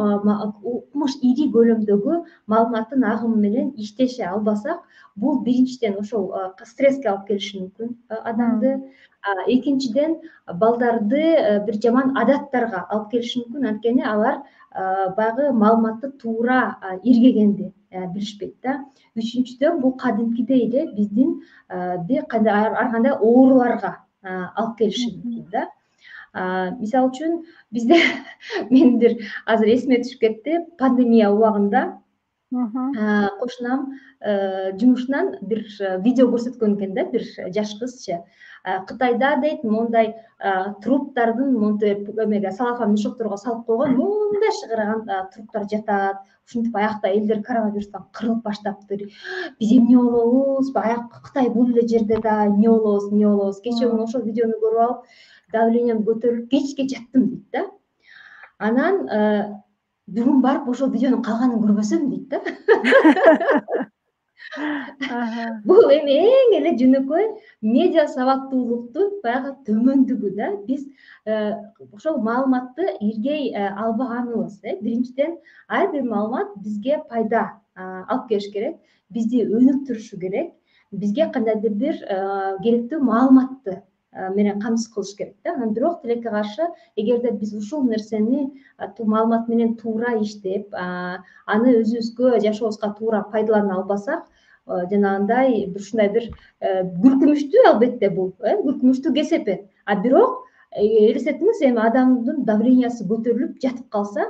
укмуш ири көлөмдөгү маалыматтын агымы менен иштеше албасак, бул биринчиден ошол стресске алып келиши мүмкүн адамды. Экинчиден, балдарды бир жаман адаттарга алып келиши мүмкүн. Анткени алар баягы маалыматты туура иргегенди билишпейт да. Үчүнчүдөн, бул кадимкидей эле биздин бир кандай ар кандай ооруларга алып келиши мүмкүн да. Мисалы үчүн бизде мен бир азыр эсиме түшүп кетти, пандемия убагында кошунам жумушунан бир видео көрсөткөн экен да, бир жаш кызчы. Кытайда дейт, мондай труптардын монтип эмеге салафан мешокторго салып койгон мондай шыгыраган труптар жатат. Ушинтип аякта элдер коронавирустан кырылып баштаптыр. Биз эмне болобуз? Аяк Кытай бул эле жерде да эмне болобуз, эмне болобуз? Кечээ күнү ошол видеону көрүп алып, давлением көтөрүлүп кечке жаттым дейт да. Анан бүгүн барып ошол видеонун калганын көрбөсөм дейт да. Аха. Бул эми эң эле жөнөкөй медиа сабаттуулуктун баягы төмөндүгү да. Биз э, ошол маалыматты иргей э, албаганыбыз. э. Биринчиден, ар бир маалымат бизге пайда а, алып келиш керек, бизди өнүктүрүшү керек, бизге кандайдыр бир э, керектүү маалыматты э, менен камсыз кылыш керек да. Анан бирок тилекке каршы, эгерде биз ушул нерсени а, ту- маалымат менен туура иштеп, а, аны өзүбүзгө жашообузга туура пайдалана албасак, э, жанагындай бир ушундай бир э, күлкүмүштүү, албетте бул э, күлкүмүштүү кесепет. А бирок э, элестетиңиз, эми адамдын давлениясы көтөрүлүп жатып калса,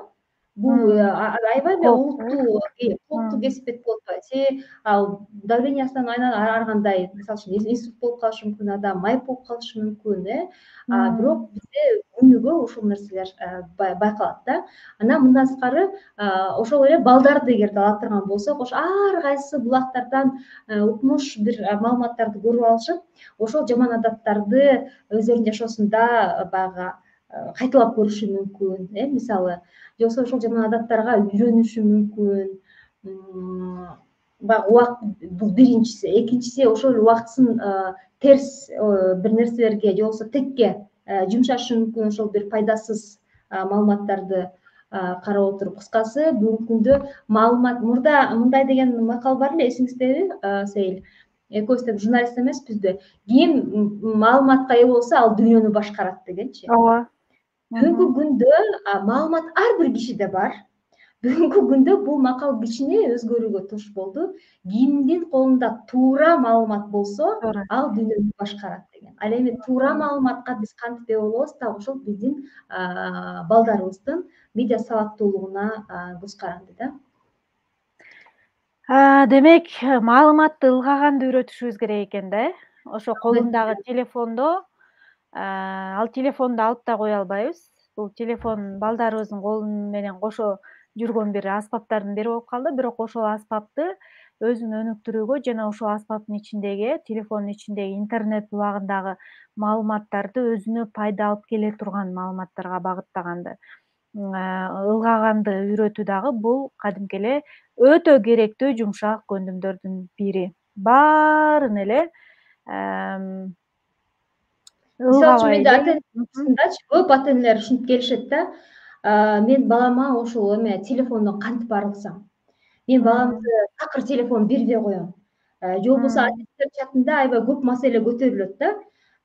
бул э, М. а- аябай эле Кооптуу, э? олуттуу э, кооптуу М. кесепет болуп атпайбы. Себеби ал давлениясынан айнан ар кандай, мисалы үчүн, инсульт болуп калышы мүмкүн, адам майып болуп калышы мүмкүн, э. А бирок М. бизде күнүгө ушул нерселер э, бай- байкалат да. Анан мындан сырткары, а, ошол эле балдарды эгерде ала турган болсок, ошо ар кайсы булактардан э, укмуш бир э, маалыматтарды көрүп алышып, ошол жаман адаттарды өздөрүнүн жашоосунда э, баягы э, кайталап көрүшү мүмкүн, э, мисалы, же болбосо ошол жаман адаттарга үйрөнүшү мүмкүн. М, Баягы убакыт, бул биринчиси. Экинчиси, ошол убактысын э, терс э, бир нерселерге же болбосо текке э, жумшашы мүмкүн, ошол бир пайдасыз а, маалыматтарды а, карап отуруп. Кыскасы, бүгүнкү күндө маалымат, мурда мындай деген макал бар эле, эсиңиздеби, а, Сейил? Экөөбүз тең журналист эмеспизби? Ким м, маалыматка ээ болсо, ал дүйнөнү башкарат дегенчи. Ооба. Бүгүнкү Мгм. күндө а, маалымат ар бир кишиде бар. Бүгүнкү күндө бул макал кичине өзгөрүүгө туш болду. Кимдин колунда туура маалымат болсо, Туура. ал дүйнөнү башкарат деген. Ал эми туура маалыматка биз кантип ээ болобуз, так ошол биздин а, балдарыбыздын медиа сабаттуулугуна а, көз каранды да. А, демек, маалыматты ылгаганды үйрөтүшүбүз керек экен да, э? Ошо колундагы Албетте. телефондо, а, ал телефонду алып да кое албайбыз. Бул телефон балдарыбыздын колу менен кошо жүргөн бир аспаптардын бири болуп калды. Бирок ошол аспапты өзүн өнүктүрүүгө жана ошол аспаптын ичиндеги, телефондун ичиндеги интернет булагындагы маалыматтарды өзүнө пайда алып келе турган маалыматтарга багыттаганды, ылгаганды үйрөтүү дагы бул кадимки эле өтө керектүү жумшак көндүмдөрдүн бири. Баарын эле Мисалы үчүн, ылгабай менде эле. ата эне Мгм. арасындачы көп ата энелер ушинтип келишет да. а, Мен балама ошол эме телефондон кантип арылсам? Мен М. баламды такыр телефон бербей коем. Э, же болбосо М. адистер чатында аябай көп маселе көтөрүлөт да.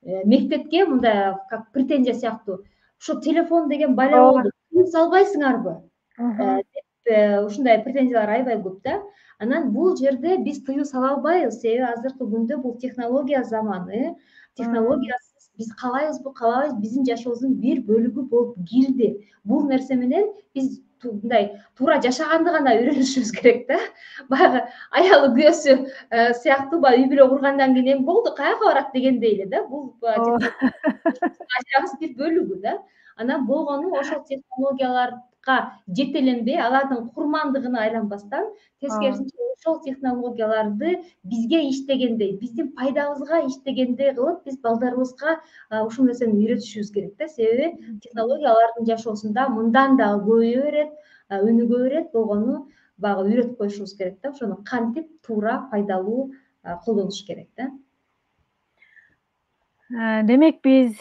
Э, Мектепке мындай как претензия сыяктуу. Ошо телефон деген бале Ооба. болду. Тыюу салбайсыңарбы? Мгм. Э, деп э, ушундай претензиялар аябай көп да. Анан бул жерде биз тыюу сала албайбыз. Себеби азыркы күндө бул технология заманы. М. Технологиясыз биз каалайбызбы, каалабайбызбы, биздин жашообуздун бир бөлүгү болуп кирди. Бул нерсе менен биз ту- мындай туура жашаганды гана үйрөнүшүбүз керек да. Баягы аялы күйөөсү э, сыяктуу, баягы үй бүлө кургандан кийин эми болду, каяка барат дегендей эле да. Бул баягы Ооба. технология ажырагыс бир бөлүгү да. Анан болгону ошол технологияларга жетеленбей, алардын курмандыгына айланбастан, Ооба. тескерисинче ошол технологияларды бизге иштегендей, биздин пайдабызга иштегендей кылып, биз балдарыбызга а, ушул нерсени үйрөтүшүбүз керек да. Себеби технология алардын жашоосунда мындан дагы көбөйө берет, а, өнүгө берет. Болгону баягы үйрөтүп коюшубуз керек да. Ошону кантип туура, пайдалуу а, колдонуш керек да. Э, Демек биз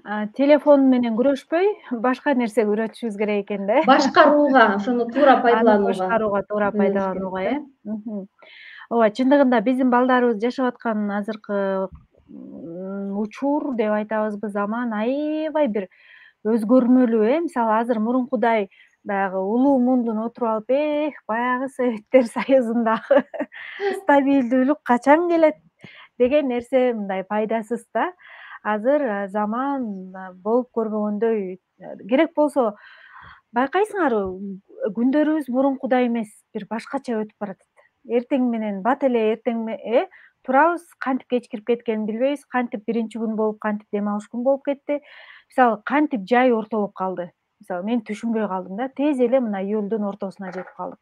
а, телефон менен күрөшпөй, башка нерсеге үйрөтүшүбүз керек экен да. Башкарууга, ошону туура Аны пайдаланууга башкарууга, туура үйрөнүш керек пайдаланууга, да. э. Мгм. Ооба, чындыгында биздин балдарыбыз жашап аткан азыркы м, учур деп айтабызбы, заман аябай бир өзгөрмөлүү, э. Мисалы азыр мурункудай баягы улуу мундун отуруп алып, эх, баягы Советтер Союзундагы стабилдүүлүк качан келет деген нерсе мындай пайдасыз да. Азыр э, заман э, болуп көрбөгөндөй, э, керек болсо байкайсыңарбы, күндөрүбүз мурункудай эмес, бир башкача өтүп баратат. Эртең менен бат эле эртең э турабыз, кантип кеч кирип кеткенин билбейбиз, кантип биринчи күн болуп, кантип дем алыш күн болуп кетти. Мисалы, кантип жай ортолоп калды. Мисалы, мен түшүнбөй калдым да, тез эле мына июлдун ортосуна жетип калдык.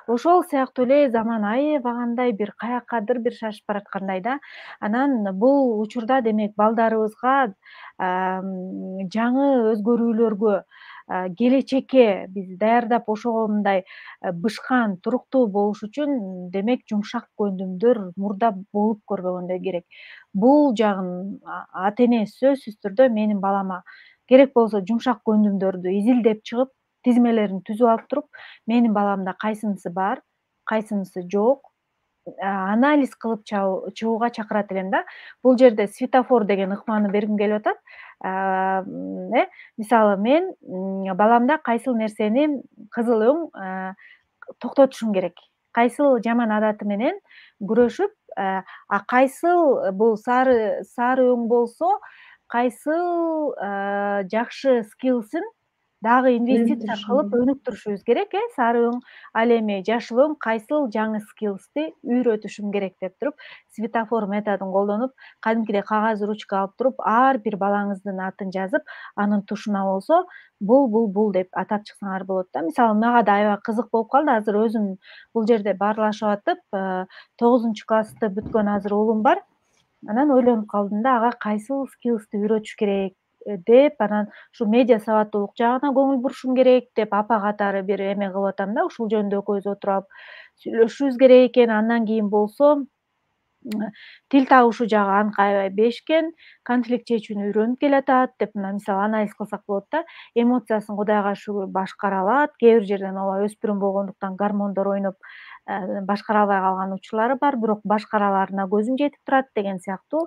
Ошол сыяктуу эле заман аябагандай бир каяккадыр бир шашып бараткандай да. Анан бул учурда демек балдарыбызга ам, жаңы өзгөрүүлөргө, келечекке биз даярдап ошого мындай бышкан, туруктуу болуш үчүн демек жумшак көндүмдөр мурда болуп көрбөгөндөй керек. Бул жагын ата эне сөзсүз түрдө менин балама керек болсо жумшак көндүмдөрдү изилдеп чыгып, тизмелерин түзүп алып туруп, менин баламда кайсынысы бар, кайсынысы жок, анализ кылып чыгууга чакырат элем да. Бул жерде светофор деген ыкманы бергим келип атат. э мисалы мен баламда кайсыл нерсени кызыл өң токтотушум керек, кайсыл жаман адаты менен күрөшүп, а кайсыл бул сары сары өң болсо кайсыл жакшы скиллсин дагы инвестиция кылып өнүктүрүшүбүз керек, э сары өң, ал эми жашыл өң кайсыл жаңы скиллсти үйрөтүшүм керек деп туруп, светофор методун колдонуп, кадимкидей кагаз ручка алып туруп, ар бир балаңыздын атын жазып, анын тушуна болсо бул бул бул деп атап чыксаңар болот да. Мисалы мага да аябай кызык болуп калды. Азыр өзүм бул жерде баарлашып атып, тогузунчу классты бүткөн азыр уулум бар. Анан ойлонуп калдым да, ага кайсыл скиллсти үйрөтүш керек деп, анан ушу медиа сабаттуулук жагына көңүл бурушум керек деп апа катары бир эме кылып атам да. Ушул жөнүндө экөөбүз отуруп алып сүйлөшүшүбүз керек экен. Андан кийин болсо тил табышу жагы аныкы аябай бешкен, конфликт чечүүнү үйрөнүп келатат деп, мына мисалы анализ кылсак болот да. Эмоциясын Кудайга шүгүр башкара алат. Кээ бир жерден ооба өспүрүм болгондуктан гормондор ойноп башкара албай калган учурлары бар, бирок башкараларына көзүм жетип турат деген сыяктуу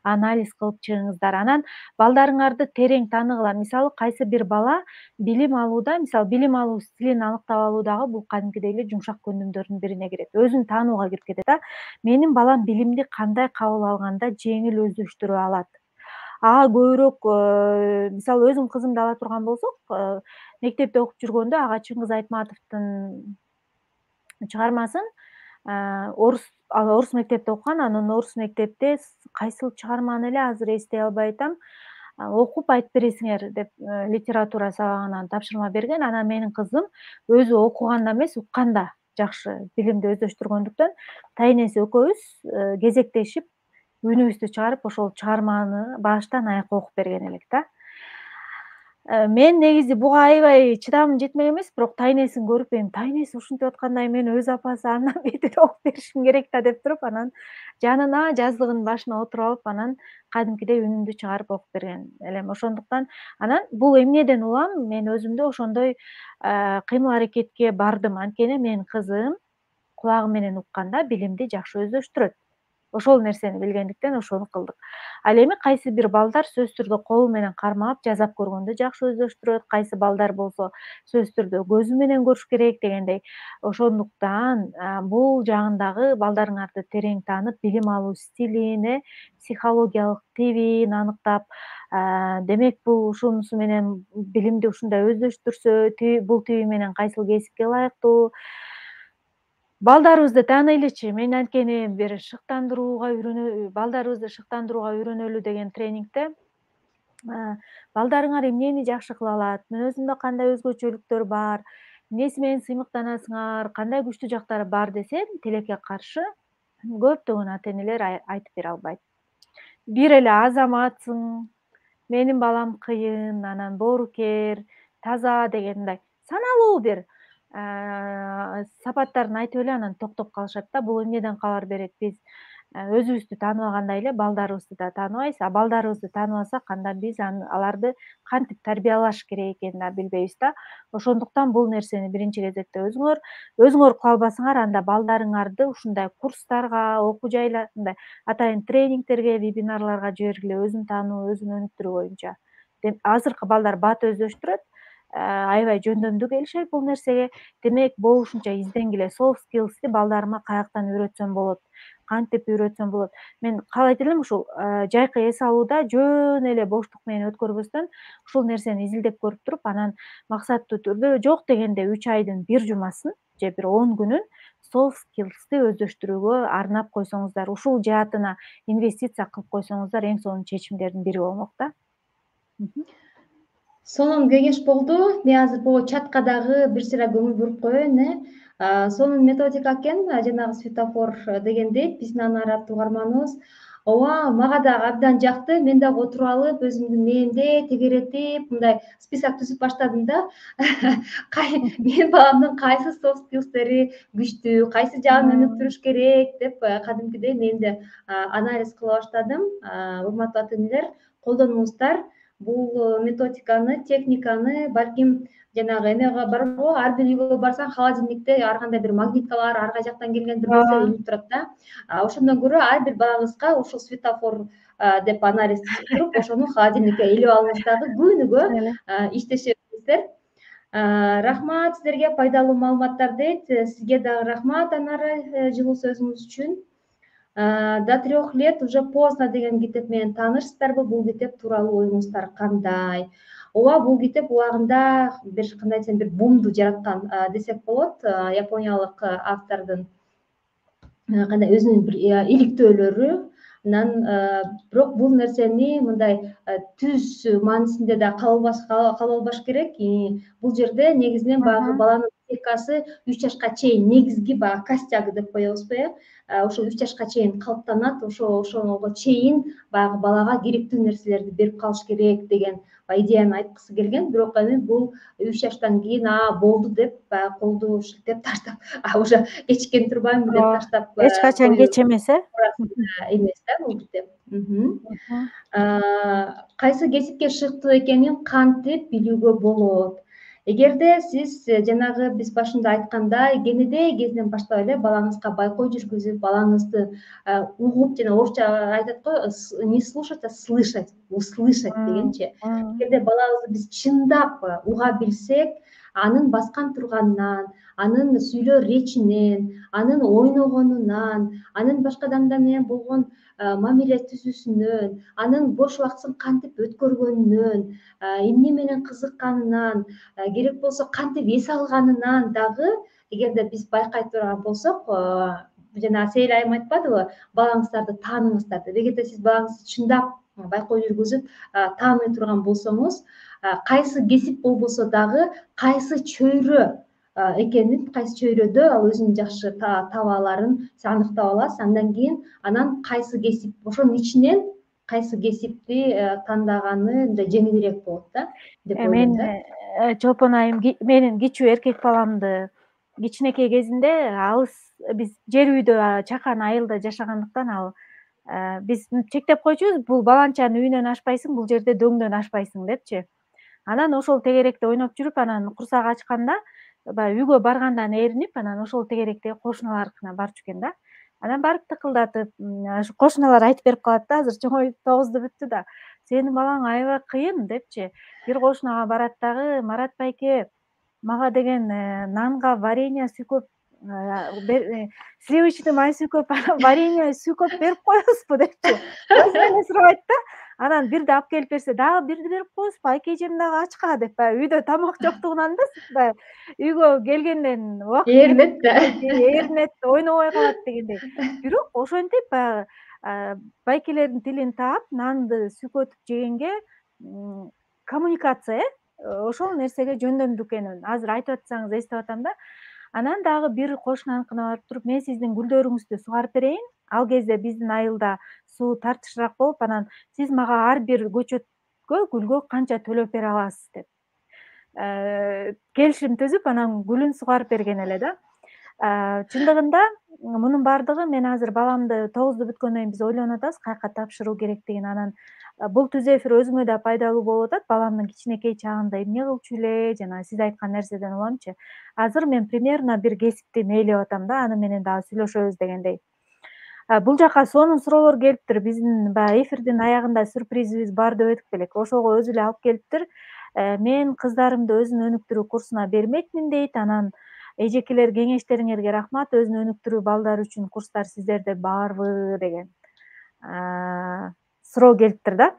анализ кылып чыгыңыздар. Анан балдарыңарды терең тааныгыла. Мисалы кайсы бир бала билим алууда, мисалы билим алуу стилин аныктап алуу дагы бул кадимкидей эле жумшак көндүмдөрдүн бирине кирет. Өзүн таанууга кирип кетет да. Менин балам билимди кандай кабыл алганда жеңил өздөштүрө алат. Ага көбүрөөк мисалы өзүм кызымды ала турган болсок, мектепте окуп жүргөндө ага Чыңгыз Айтматовдун чыгармасын орус орус мектепте окуган, анан орус мектепте кайсыл чыгарманы эле азыр эстей албай атам, окуп айтып бересиңер деп литература сабагынан тапшырма берген. Анан менин кызым өзү окуганда эмес, укканда жакшы билимди өздөштүргөндүктөн тайнеси экөөбүз кезектешип үнүбүздү чыгарып ошол чыгарманы баштан аякка окуп берген элек да. Мен негизи буга аябай чыдамым жетмек эмес, бирок тайнесин көрүп, эми тайнеси ушинтип атканда мен өз апасы андан бетер окуп беришим керек да деп туруп, анан жанына жаздыгынын башына отуруп алып, анан кадимкидей үнүмдү чыгарып окуп берген элем. Ошондуктан анан бул эмнеден улам, мен өзүмдө ошондой кыймыл аракетке бардым. Анткени менин кызым кулагы менен укканда билимди жакшы өздөштүрөт. Ошол нерсени билгендиктен ошону кылдык. Ал эми кайсы бир балдар сөзсүз түрдө колу менен кармап, жазап көргөндө жакшы өздөштүрөт, кайсы балдар болсо сөзсүз түрдө көзү менен көрүш керек дегендей. Ошондуктан бул жагындагы балдарыңарды терең таанып, билим алуу стилин, психологиялык тибин аныктап, демек бул ушунусу менен билимди ушундай өздөштүрсө, бул тиби менен кайсыл кесипке ылайыктуу, балдарыбызды тааныйлычы. Мен анткени бир шыктандырууга үйрөнө, балдарыбызды шыктандырууга үйрөнөлү деген тренингде балдарыңар эмнени жакшы кыла алат, мүнөзүндө кандай өзгөчөлүктөр бар, эмнеси менен сыймыктанасыңар, кандай күчтүү жактары бар десем, тилекке каршы көптөгөн ата энелер айтып бере албайт. Бир эле азаматсың, менин балам кыйын, анан боорукер, таза деген мындай саналуу бир сапаттарын айтып эле анан токтоп калышат да. Бул эмнеден кабар берет? Биз өзүбүздү тааныбагандай эле балдарыбызды да тааныбайбыз, а балдарыбызды тааныбасак, анда биз аларды кантип тарбиялаш керек экенин да билбейбиз да. Ошондуктан бул нерсени биринчи кезекте өзүңөр өзүңөр кыла албасаңар, анда балдарыңарды ушундай курстарга, окуу жайлар, мындай атайын тренингтерге, вебинарларга жибергиле, өзүн таануу, өзүн өнүктүрүү боюнча. Азыркы балдар бат өздөштүрөт, аябай жөндөмдүү келишет бул нерсеге. Демек болушунча изденгиле, soft skillsти балдарыма каяктан үйрөтсөм болот, кантип үйрөтсөм болот. Мен каалайт элем ушул жайкы эс алууда жөн эле боштук менен өткөрбөстөн ушул нерсени изилдеп көрүп туруп, анан максаттуу түрдө жок дегенде үч айдын бир жумасын же бир он күнүн soft skillsти өздөштүрүүгө арнап койсоңуздар, ушул жаатына инвестиция кылып койсоңуздар, эң сонун чечимдердин бири болмок да. Сонун кеңеш болду. Мен азыр бул чатка дагы бир сыйра көңүл буруп коеюн, э. Сонун методика экен, жанагы светофор дегендей, биздин аны араттуу угарманыбыз Ооба, мага дагы абдан жакты. Мен дагы отуруп алып, өзүмдүн мээмде тегеретип, мындай список түзүп баштадым да. Кай Менин баламдын кайсы soft skills'тери күчтүү, кайсы жагын өнүктүрүш керек деп кадимкидей мен да анализ кыла баштадым. Урматтуу ата-энелер, колдонуңуздар бул методиканы, техниканы. Балким жанагы эмеге барбы, ар бир үйгө барсаң холодильникте ар кандай бир магниткалар, ар кай жактан келген бир нерсе илинип турат да. Ошондон көрө ар бир балаңызга ушул светофор деп анализ туруп, ошону холодильникке илип алыңыз дагы күнүгө иштеше бериңиздер. Рахмат сиздерге, пайдалуу маалыматтар дейт. Сизге дагы рахмат Анара, жылуу сөзүңүз үчүн. До трех лет уже поздно деген китеп менен таанышсыздарбы? Бул китеп тууралуу оюңуздар кандай? Ооба, бул китеп убагында бир кандай десем бир бумду жараткан десек болот. Япониялык автордун кандай өзүнүн бир иликтөөлөрү. Анан бирок бул нерсени мындай түз маанисинде да кабыл албаш керек. Бул жерде негизинен баягы баланын психикасы үч жашка чейин, негизги баягы костяк деп коебузбу, э? Ошол үч жашка чейин калыптанат. Ошо ошого чейин баягы балага керектүү нерселерди берип калыш керек деген идеяны айткысы келген. Бирок эми бул үч жаштан кийин а болду деп баягы колду шилтеп таштап, уже кечиккен турбаймынбы деп таштап эч качан кеч эмес, э? Эмес да бул китеп. Кайсы кесипке шыктуу экенин кантип билүүгө болот? Эгерде сиз жанагы биз башында айткандай кенедей кезинен баштап эле балаңызга байкоо жүргүзүп, балаңызды угуп, жана орусча айтат го, не слушать, а слышать, услышать дегенчи. Эгерде балабызды биз чындап уга билсек, анын баскан турганынан, анын сүйлөө речинен, анын ойногонунан, анын башка адамдар менен болгон мамиле түзүүсүнөн, анын бош убактысын кантип өткөргөнүнөн, эмне менен кызыкканынан, керек болсо кантип эс алганынан дагы эгерде биз байкай турган болсок, жана Сейил айым айтпадыбы, балаңыздарды тааныңыздар деп. Эгерде сиз балаңызды чындап байкоо жүргүзүп тааный турган болсоңуз, кайсы кесип болбосо дагы кайсы чөйрө экенин, кайсы чөйрөдө ал өзүнүн жакшы таба аларын сиз аныктап аласыз. Андан кийин анан кайсы кесип, ошонун ичинен кайсы кесипти тандаганы мындай жеңилирээк болот да деп ойлойм да. Мен Чолпон айым менин кичүү эркек баламды кичинекей кезинде алыс биз жер үйдө чакан айылда жашагандыктан ал биз чектеп койчубуз, бул баланчанын үйүнөн ашпайсың, бул жерде дөңдөн ашпайсың депчи. Анан ошол тегеректе ойноп жүрүп, анан курсак ачканда баягы үйгө баргандан эринип, анан ошол тегеректеги кошуналарыкына барчу экен да. Анан барып тыкылдатып, кошуналар айтып берип калат да, азыр чоңоюп тогузду бүттү да, сенин балаң аябай кыйын депчи. Бир кошунага барат дагы, Марат байке, мага деген нанга варенье сүйкөп, сливочный май сүйкөп, варенье сүйкөп берип коесузбу депчи. Өзүнөн эле сурабайт да. Анан бирди алып келип берсе, дагы бирди берип коесузбу, айкежем дагы ачка деп, баягы үйдө тамак жоктугунан да баягы үйгө келгенден убакыт Ээринет да. Ээринет, ойнобой калат дегендей. Бирок ошентип баягы байкелердин тилин таап, нанды сүйкөтүп жегенге коммуникация, э, ошол нерсеге жөндөмдү экенин азыр айтып атсаңыз эстеп атам да. Анан дагы бир кошунаныкына барып туруп, мен сиздин гүлдөрүңүздү сугарып берейин. Ал кезде биздин айылда суу тартышыраак болуп, анан сиз мага ар бир көчөткө, гүлгө канча төлөп бере аласыз деп келишим түзүп, анан гүлүн сугарып берген эле да. Чындыгында мунун баардыгы мен азыр баламды тогузду бүткөндөн кийин биз ойлонуп атабыз каяка тапшыруу керектигин. Анан бул түз эфир өзүңө да пайдалуу болуп атат. Баламдын кичинекей чагында эмне кылчу эле, жана сиз айткан нерседен уламчы. Азыр мен примерно бир кесипти мээлеп атам да, аны менен дагы сүйлөшөбүз дегендей. Бул жака сонун суроолор келиптир. Биздин баягы эфирдин аягында сюрпризибиз бар деп өтүп элек. Ошого өзү эле алып келиптир. Мен кыздарымды өзүн өнүктүрүү курсуна бермекмин дейт. Анан эжекелер, кеңештериңерге рахмат. Өзүн өнүктүрүү балдар үчүн курстар сиздерде барбы деген суроо келиптир да.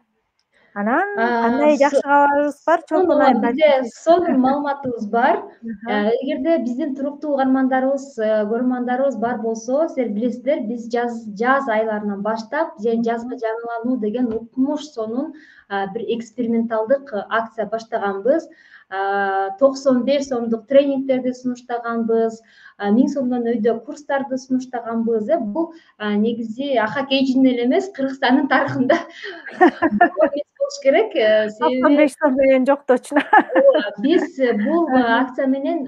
Анан кандай жакшы кабарыбыз бар, Чолпон айым? Бизде сонун маалыматыбыз бар. Эгерде биздин туруктуу угармандарыбыз, көрөрмандарыбыз бар болсо, силер билесиздер, биз жаз жаз айларынан баштап жазгы жаңылануу деген укмуш сонун бир эксперименталдык акция баштаганбыз. токсон беш сомдук тренингтерди сунуштаганбыз, миң сомдон өйдө курстарды сунуштаганбыз. Э бул негизи Аха Кейжиндин эле эмес, Кыргызстандын тарыхында болуш керек. токсон Себеби беш сом деген жок точно. биз бул акция менен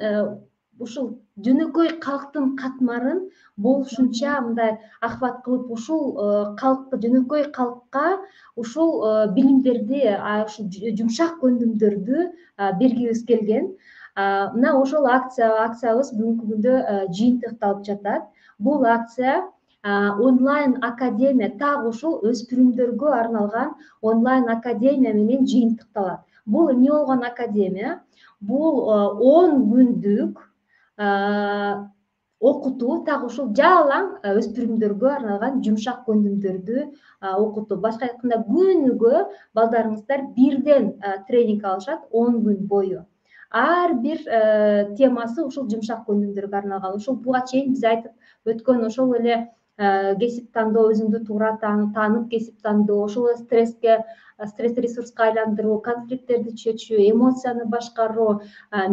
ушул жөнөкөй калктын катмарын болушунча мындай ахват кылып, ушул калкты, жөнөкөй калкка ушул билимдерди, ушул жумшак көндүмдөрдү бергибиз келген. Мына ошол акция акциябыз бүгүнкү күндө жыйынтыкталып жатат. Бул акция онлайн академия, так ушул өспүрүмдөргө арналган онлайн академия менен жыйынтыкталат. Бул эмне болгон академия? Бул он күндүк окутуу, так ушул жалаң өспүрүмдөргө арналган жумшак көндүмдөрдү окутуу. Башка айтканда, күнүгө балдарыңыздар бирден тренинг алышат он күн бою. Ар бир темасы ушул жумшак көндүмдөргө арналган. Ушул буга чейин биз айтып өткөн ошол эле кесип тандоо, өзүңдү туура таанып кесип тандоо, ошол эле стресске, стресс ресурска айландыруу, конфликттерди чечүү, эмоцияны башкаруу,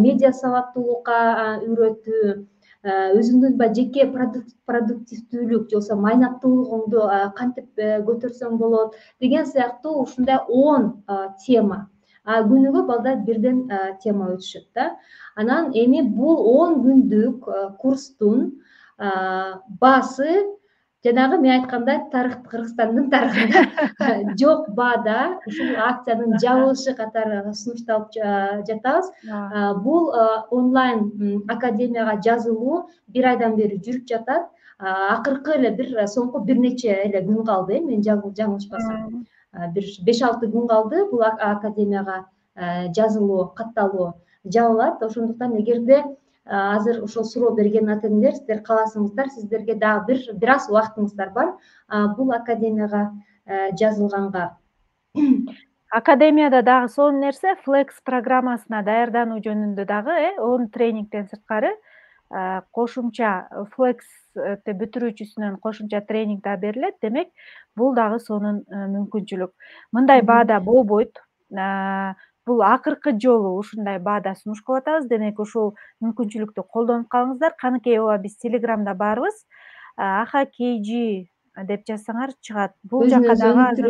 медиа сабаттуулукка үйрөтүү, өзүңдүн баягы жеке продуктивдүүлүк же болбосо майнаттуулугуңду кантип көтөрсөң болот деген сыяктуу ушундай он тема. Күнүгө балдар бирден тема өтүшөт да. Анан эми бул он күндүк курстун баасы жанагы мен айткандай тарых, Кыргызстандын тарыхында жок баада ушул акциянын жабылышы катары сунушталып жатабыз. Бул онлайн академияга жазылуу бир айдан бери жүрүп жатат. Акыркы эле бир соңку бир нече эле күн калды, э мен жаңылышпасам. Бир беш алты күн калды бул академияга жазылуу, катталуу жабылат. Ошондуктан эгерде азыр ошол суроо берген ата энелер, сиздер кааласаңыздар, сиздерге дагы бир бир аз убактыңыздар бар бул академияга жазылганга. Академияда дагы сонун нерсе, Flex программасына даярдануу жөнүндө дагы он тренингден сырткары кошумча Flexти бүтүрүүчүсүнөн кошумча тренинг да берилет. Демек, бул дагы сонун мүмкүнчүлүк. Мындай баада болбойт. Бул акыркы жолу ушундай баада сунуш кылып атабыз. Демек, ушул мүмкүнчүлүктү колдонуп калыңыздар. Каныкей ооба биз Телеграмда барбыз. Аха Кейжи деп жазсаңар чыгат. Бул жакка дагы азыр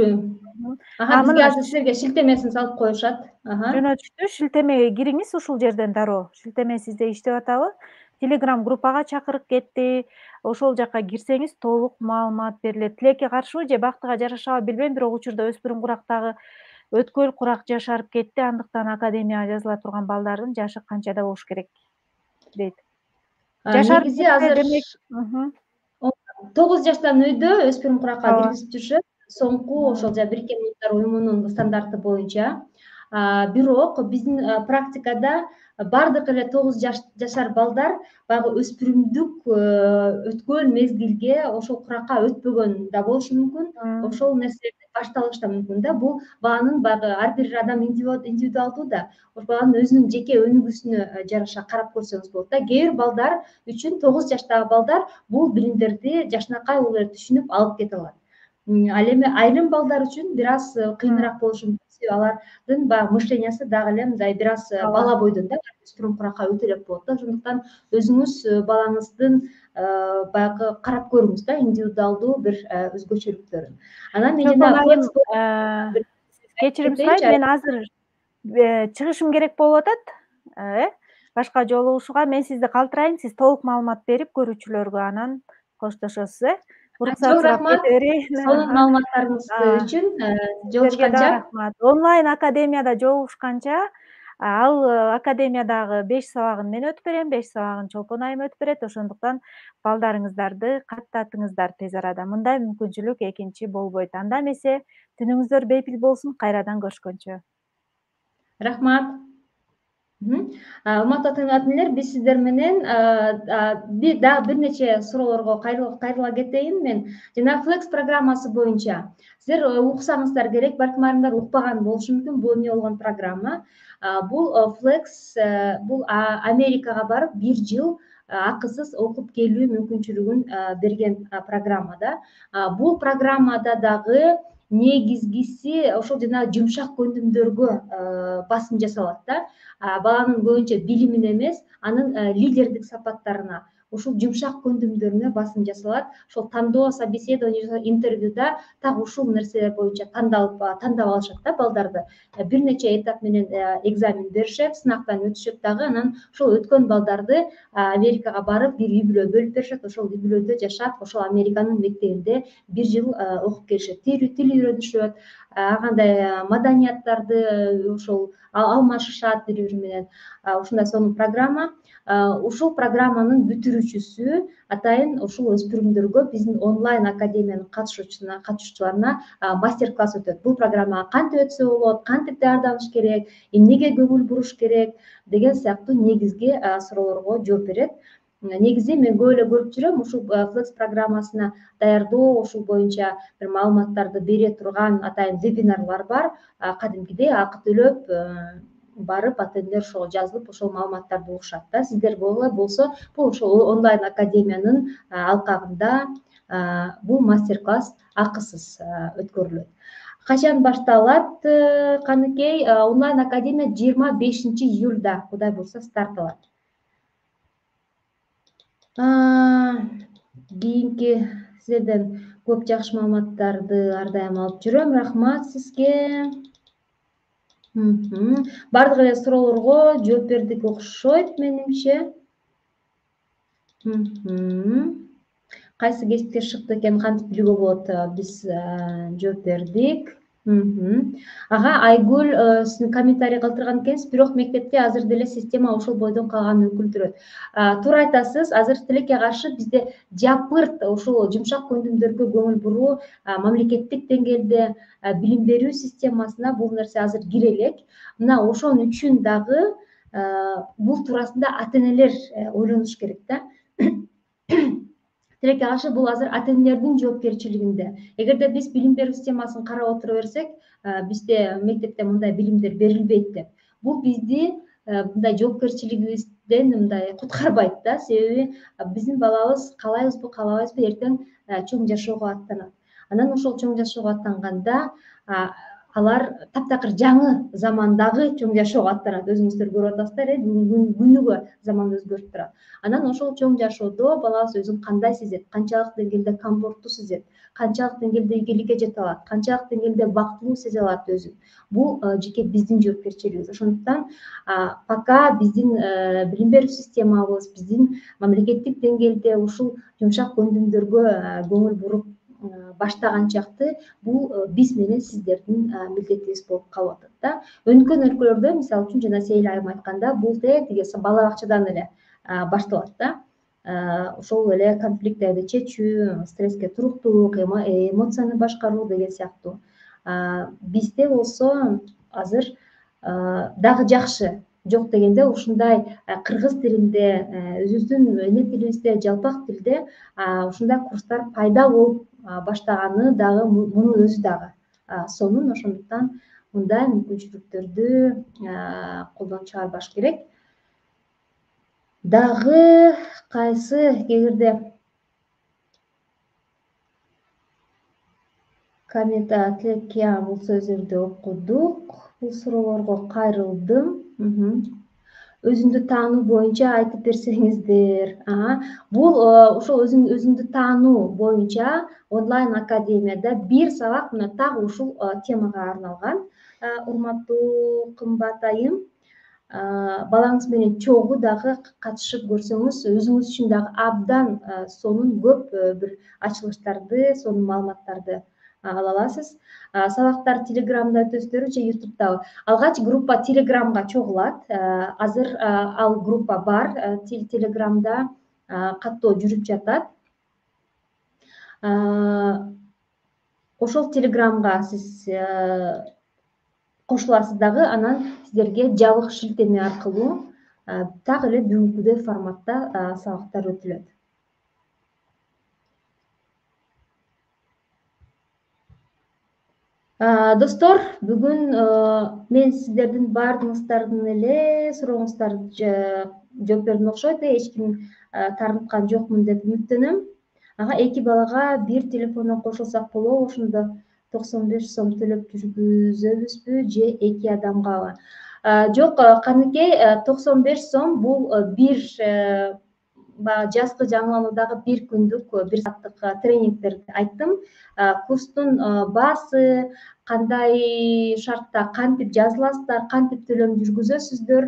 бизге азыр силерге шилтемесин салып коюшат. Жөнөтүштү. Шилтемеге кириңиз ушул жерден дароо. Шилтеме сизде иштеп атабы? Телеграм группага чакырып кетти. Ошол жакка кирсеңиз толук маалымат берилет. Тилекке каршыбы же бактыга жарашабы билбейм, бирок учурда өспүрүм курактагы өткөл курак жашарып кетти. Андыктан академияга жазыла турган балдардын жашы канчада болуш керек дейт. Негизи азыр тогуз жаштан өйдө өспүрүм куракка киргизип жүрүшөт. Соңку ошол Бириккен Улуттар уюмунун стандарты боюнча. Бирок биздин практикада бардык эле тогуз жашар балдар баягы өспүрүмдүк өткөн мезгилге ошол куракка өтпөгөн да болушу мүмкүн. Ошол нерселерди башталышы да мүмкүн да. Бул баланын баягы ар бир адам индивидуалдуу да. Ошол баланын өзүнүн жеке өнүгүүсүнө жараша карап көрсөңүз болот да. Кээ бир балдар үчүн тогуз жаштагы балдар бул билимдерди жакшынакай улуу эле түшүнүп алып кете алат. Ал эми айрым балдар үчүн бир аз кыйыныраак болушу мүмкүн. Алардын баягы мышлениясы дагы эле мындай бир аз бала бойдон да, өспүрүм куракка өтө элек болот да. Ошондуктан өзүңүз балаңыздын баягы карап көрүңүз да, индивидуалдуу бир өзгөчөлүктөрүн. Анан мен жана кечирим сурайм, мен азыр чыгышым керек болуп атат. Э, башка жолугушууга мен сизди калтырайын, сиз толук маалымат берип көрүүчүлөргө анан коштошосуз, э. Уруксат сурап кете берейин. Сонун маалыматтарыңыз үчүн жолугушканча. Рахмат. Онлайн академияда жолугушканча, ал академиядагы беш сабагын мен өтүп берем, беш сабагын Чолпон айым өтүп берет. Ошондуктан балдарыңыздарды каттатыңыздар тез арада. Мындай мүмкүнчүлүк экинчи болбойт. Анда эмесе түнүңүздөр бейпил болсун. Кайрадан көрүшкөнчө. Рахмат. Урматтуу ата энелер, биз сиздер менен дагы бир нече суроолорго кайрыла кетейин мен. Жана Flex программасы боюнча сиздер уксаңыздар керек, балким айрымдар укпаган болушу мүмкүн. Бул эмне болгон программа? Бул Flex бул Америкага барып бир жыл акысыз окуп келүү мүмкүнчүлүгүн берген программа да. Бул программада дагы негизгиси ошол жанагы жумшак көндүмдөргө басым жасалат да. Баланын көбүнчө билимине эмес, анын лидердик сапаттарына, ушул жумшак көндүмдөрүнө басым жасалат. Ошол тандоо, собеседование, интервьюда так ушул нерселер боюнча тандалып тандап алышат да балдарды. Бир нече этап менен экзамен беришет, сынактан өтүшөт дагы. Анан ошол өткөн балдарды Америкага барып бир үй бүлө бөлүп беришет. Ошол үй бүлөдө жашап, ошол Американын мектебинде бир жыл окуп келишет. Тил үйрөнүшөт, ар кандай маданияттарды ошол алмашышат бири бири менен. Ушундай сонун программа. Ушул программанын бүтүрүүчүсү атайын ушул өспүрүмдөргө биздин онлайн академиянын катышуучусуна катышуучуларына мастер-класс өтөт. Бул программага кантип өтсө болот, кантип даярданыш керек, эмнеге көңүл буруш керек деген сыяктуу негизги суроолорго жооп берет. Негизи мен көп эле көрүп жүрөм, ушул Flex программасына даярдоо, ушул боюнча бир маалыматтарды бере турган атайын вебинарлар бар. Кадимкидей акы төлөп барып, атендер ошого жазылып, ошол маалыматтарды угушат да. Сиздер болсо, бул ошол онлайн академиянын алкагында бул мастер-класс акысыз өткөрүлөт. Качан башталат? Каныкей, онлайн академия жыйырма бешинчи июлда, Кудай буйрса, старт алат. Кийинки сиздерден көп жакшы маалыматтарды ар дайым алып жүрөм. Рахмат сизге. Бардык эле суроолорго жооп бердик окшойт менимче. Кайсы кесипке шыкты экенин кантип билүүгө болот? Биз жооп бердик. Ага, Айгүл сиздин комментарий калтырган экенсиз, бирок мектепте азыр деле система ошол бойдон калганын өкүлдүрөт. Туура айтасыз, азыр тилекке каршы бизде жапырт ушул жумшак көндүмдөргө көңүл буруу мамлекеттик деңгээлде билим берүү системасына бул нерсе азыр кире элек. Мына ошон үчүн дагы бул туурасында ата-энелер ойлонуш керек да. Тилекке каршы бул азыр ата-энелердин жоопкерчилигинде. Эгерде биз билим берүү системасын карап отура берсек, бизде мектепте мындай билимдер берилбейт деп. Бул бизди мындай жоопкерчилигибизден мындай куткарбайт да. Себеби биздин балабыз каалайбызбы, каалабайбызбы, эртең чоң жашоого аттанат. Анан ошол чоң жашоого аттанганда алар таптакыр жаңы замандагы чоң жашоого аттанат. Өзүңүздөр көрүп атасыздар, э, күнүгө заман өзгөрүп турат. Анан ошол чоң жашоодо балабыз өзүн кандай сезет, канчалык деңгээлде комфорттуу сезет, канчалык деңгээлде ийгиликке жете алат, канчалык деңгээлде бактылуу сезе алат өзүн. Бул жеке биздин жоопкерчилигибиз. Ошондуктан пока биздин билим берүү системабыз, биздин мамлекеттик деңгээлде ушул жумшак көндүмдөргө көңүл буруп баштаганчакты бул биз менен сиздердин милдетибиз болуп калып атат да. Өнүккөн өлкөлөрдө, мисалы үчүн жана Сейил айым айтканда, бул тең тиги бала бакчадан эле башталат да. Ошол эле конфликттерди чечүү, стресске туруктуулук, эмоцияны башкаруу деген сыяктуу. Бизде болсо азыр дагы жакшы, жок дегенде ушундай кыргыз тилинде, өзүбүздүн эне тилибизде, жалпак тилде ушундай курстар пайда болуп баштаганы дагы мунун өзү дагы сонун. Ошондуктан мындай мүмкүнчүлүктөрдү колдон чыгарбаш керек. Дагы кайсы эгерде комментарий тилекке бул сөздөрдү окудук. Бул суроолорго кайрылдым. Өзүңдү таануу боюнча айтып берсеңиздер. Бул ошол өзүңдү таануу боюнча онлайн академияда бир сабак мына так ушул темага арналган. Урматтуу кымбат айым, балаңыз менен чогуу дагы катышып көрсөңүз, өзүңүз үчүн дагы абдан сонун көп бир ачылыштарды, сонун маалыматтарды ала аласыз. Сабактар Телеграмда өтөсүздөрбү же Ютубдабы? Алгач группа Телеграмга чогулат. Азыр ал группа бар. Телеграмда каттоо жүрүп жатат. Ошол Телеграмга сиз кошуласыз дагы, анан сиздерге жабык шилтеме аркылуу так эле бүгүнкүдөй форматта сабактар өтүлөт. Достор, бүгүн мен сиздердин баардыгыңыздардын эле сурооңуздарды жооп бердим окшойт. Эч ким тартынткан жокмун деп үмүттөнөм. Ага, эки балага бир телефондон кошулсак болобу? Ошондо токсон беш сом төлөп жүргүзөбүзбү же эки адамгабы? Жок, Каныкей, токсон беш сом бул бир баягы жазгы жаңылануудагы бир күндүк бир сааттык тренингтерди айттым. Курстун баасы, кандай шартта кантип жазыласыздар, кантип төлөм жүргүзөсүздөр,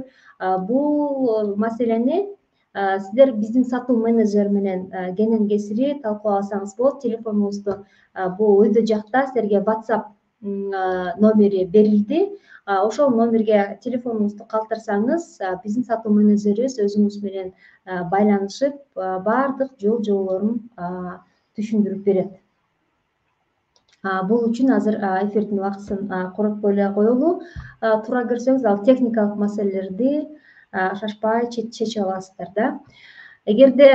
бул маселени сиздер биздин сатуу менеджер менен кенен кесири талкуулап алсаңыз болот. Телефонубузду бул өйдө жакта силерге WhatsApp номери берилди. Ошол номерге телефонуңузду калтырсаңыз, биздин сатуу менеджерибиз өзүңүз менен байланышып, баардык жол жоболорун түшүндүрүп берет. Бул үчүн азыр эфирдин убактысын коротпой эле коелу. Туура көрсөңүз, ал техникалык маселелерди шашпай чечип аласыздар да. Эгерде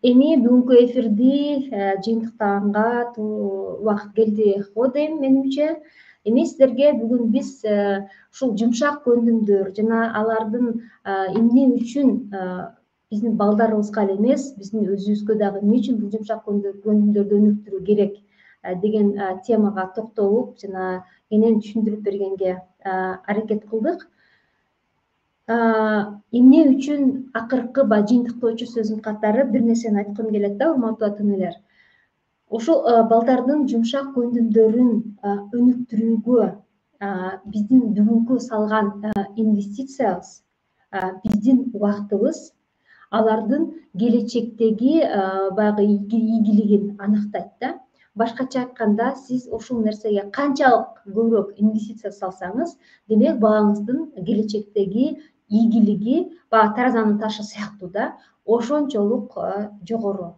эми бүгүнкү эфирди жыйынтыктаганга убакыт келди го дейм менимче. Эми сиздерге бүгүн биз ушул жумшак көндүмдөр жана алардын эмне үчүн биздин балдарыбызга эле эмес, биздин өзүбүзгө дагы эмне үчүн бул жумшак көндүмдөрдү өнүктүрүү керек деген темага токтолуп жана кенен түшүндүрүп бергенге аракет кылдык. Эмне үчүн акыркы баягы жыйынтыктоочу сөздүн катары бир нерсени айткым келет да, урматтуу ата-энелер. Ушул балдардын жумшак көндүмдөрүн өнүктүрүүгө биздин бүгүнкү салган инвестициябыз, биздин убактыбыз алардын келечектеги баягы ийгилигин аныктайт да. Башкача айтканда, сиз ушул нерсеге канчалык көбүрөөк инвестиция салсаңыз, демек балаңыздын келечектеги ийгилиги баягы таразанын ташы сыяктуу да, ошончолук жогору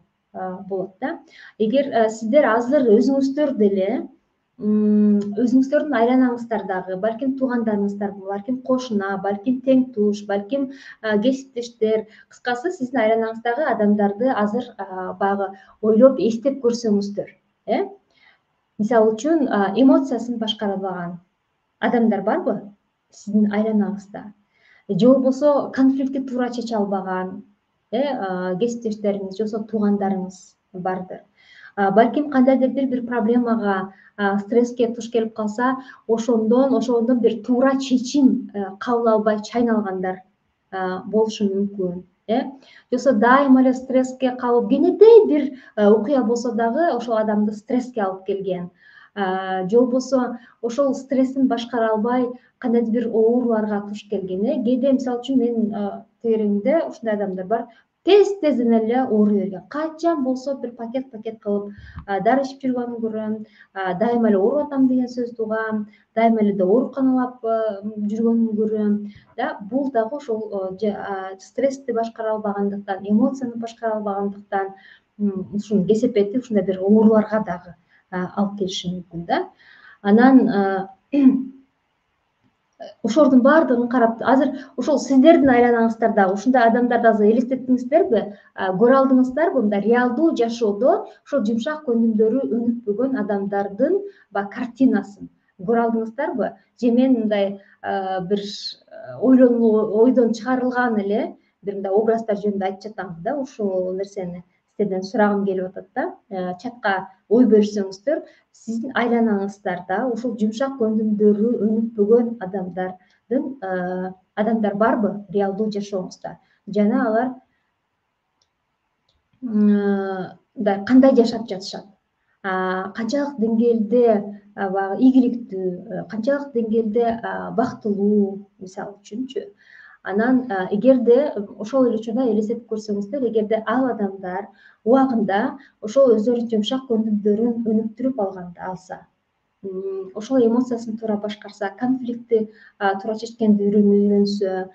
болот да. Эгер сиздер азыр өзүңүздөр деле, өзүңүздөрдүн айланаңыздардагы, балким туугандарыңыздар, балким кошуна, балким тең туш, балким кесиптештер, кыскасы сиздин айланаңыздагы адамдарды азыр баягы ойлоп эстеп көрсөңүздөр, э? Мисалы үчүн, эмоциясын башкара албаган адамдар барбы сиздин айланаңызда? Же болбосо конфликтти туура чече албаган кесиптештериңиз, же болбосо туугандарыңыз бардыр. Балким кандайдыр бир бир проблемага, стресске туш келип калса, ошондон ошондон бир туура чечим кабыл албай чайналгандар болушу мүмкүн, э? Же болбосо дайыма эле стресске кабылып, кенедей бир окуя болсо дагы ошол адамды стресске алып келген. Же болбосо ошол стрессин башкара албай кандайдыр бир ооруларга туш келген, э? Кээде мисалы үчүн менин тегеремде ушундай адамдар бар. Тез-тезден эле ооруй берген. Качан болсо бир пакет-пакет кылып дары ичип жүргөнүн көрөм, дайыма эле ооруп атам деген сөздү угам, дайыма эле ооруканалап жүргөнүн көрөм. Да, бул дагы ошол стрессти башкара албагандыктан, эмоцияны башкара албагандыктан, ушунун кесепети ушундай бир ооруларга дагы алып келиши мүмкүн да. Анан ошолордун баардыгын карап, азыр ошол сиздердин айланаңыздарда ушундай адамдарды азыр элестеттиңиздерби? Көрө алдыңыздарбы? Мындай реалдуу жашоодо ошол жумшак көндүмдөрү өнүкпөгөн адамдардын баягы картинасын көрө алдыңыздарбы? Же мен мындай бир ойлонуу ойдон чыгарылган эле бир мындай образдар жөнүндө айтып жатамбы да, ушул нерсени сиздерден сурагым келип атат да. Чатка ой берсеңиздер, сиздин айланаңыздарда ушул жумшак көндүмдөрү өнүкпөгөн адамдардын адамдар барбы реалдуу жашооңузда? Жана алар мындай кандай жашап жатышат? Канчалык деңгээлде баягы ийгиликтүү, канчалык деңгээлде бактылуу, мисалы үчүнчү. Анан эгерде ошол эле учурда элестетип көрсөңүздөр, эгерде ал адамдар убагында ошол өздөрүнүн жумшак көндүмдөрүн өнүктүрүп алганда алса, ошол эмоциясын туура башкарса, конфликтти туура чечкенди үйрөнсө,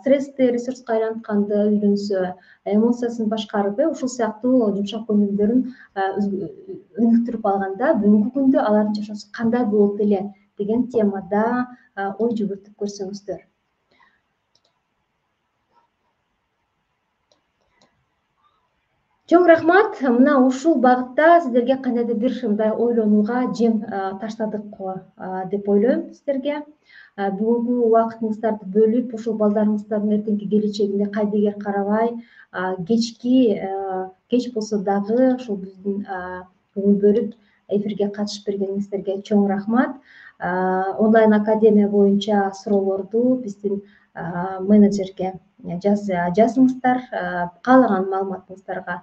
стрессти ресурска айлантканды үйрөнсө, эмоциясын башкарып, ушул сыяктуу жумшак көндүмдөрүн өнүктүрүп алганда, бүгүнкү күндө алардын жашоосу кандай болот эле деген темада ой жүгүртүп көрсөңүздөр. Чоң рахмат. Мына ушул багытта сиздерге кандайдыр бир мындай ойлонууга жем таштадык деп ойлойм сиздерге. Бүгүнкү убактыңыздарды бөлүп, ушул балдарыңыздардын эртеңки келечегине кайдыгер карабай, кечки кеч болсо дагы ушул биздин ой бөлүп эфирге катышып бергениңиздерге чоң рахмат. Онлайн академия боюнча суроолорду биздин менеджерге жазыңыздар, каалаган маалыматыңыздарга,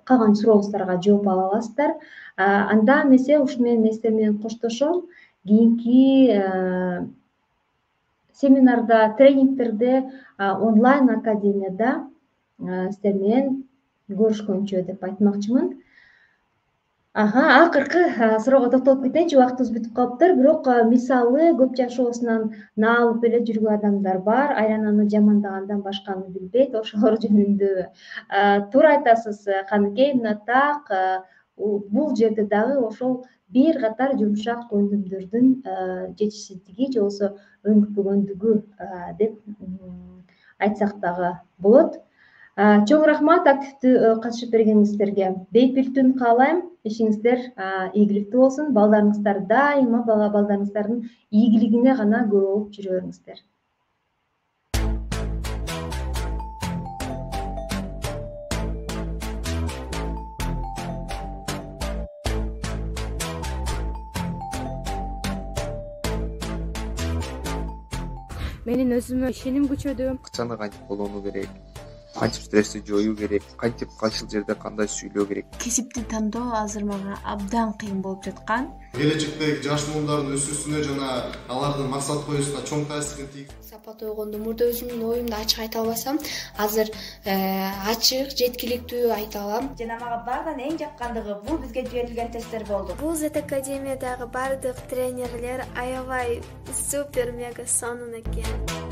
калган сурооңуздарга жооп ала аласыздар. Анда эмесе ушу менен мен сиздер менен коштошом. Кийинки семинарда, тренингтерде, онлайн академияда сиздер менен көрүшкөнчө деп айтмакчымын. Ага, акыркы суроого токтолуп кетейинчи, убактыбыз бүтүп калыптыр. Бирок мисалы көп жашоосунан наалып эле жүргөн адамдар бар, айлананы жамандагандан башканы билбейт, ошолор жөнүндө туура айтасыз, Каныкей, мына так бул жерде дагы ошол бир катар жумшак көндүмдөрдүн жетишсиздиги же болбосо өнүкпөгөндүгү деп айтсак дагы болот. Чоң рахмат активдүү катышып бергениңиздерге. Бейпил түн каалайм. Ишиңиздер ийгиликтүү болсун. Балдарыңыздар дайыма бала балдарыңыздардын ийгилигине гана күбө болуп жүрө бериңиздер. Менин өзүмө ишеним күчөдү. Акчаны кантип колдонуу керек, кантип стрессти жоюу керек, кантип кайсыл жерде кандай сүйлөө керек. Кесипти тандоо азыр мага абдан кыйын болуп жаткан. Келечектеги жаш муумдардын өсүүсүнө жана алардын максат коюусуна чоң таасирин тийгизет. Сапат ойгондо мурда өзүмдүн оюмду ачык айта албасам, азыр ачык, жеткиликтүү айта алам. Жана мага баарынан эң жаккандыгы бул бизге жиберилген тесттер болду. Бул Z Академиядагы бардык тренерлер аябай супер мега сонун экен.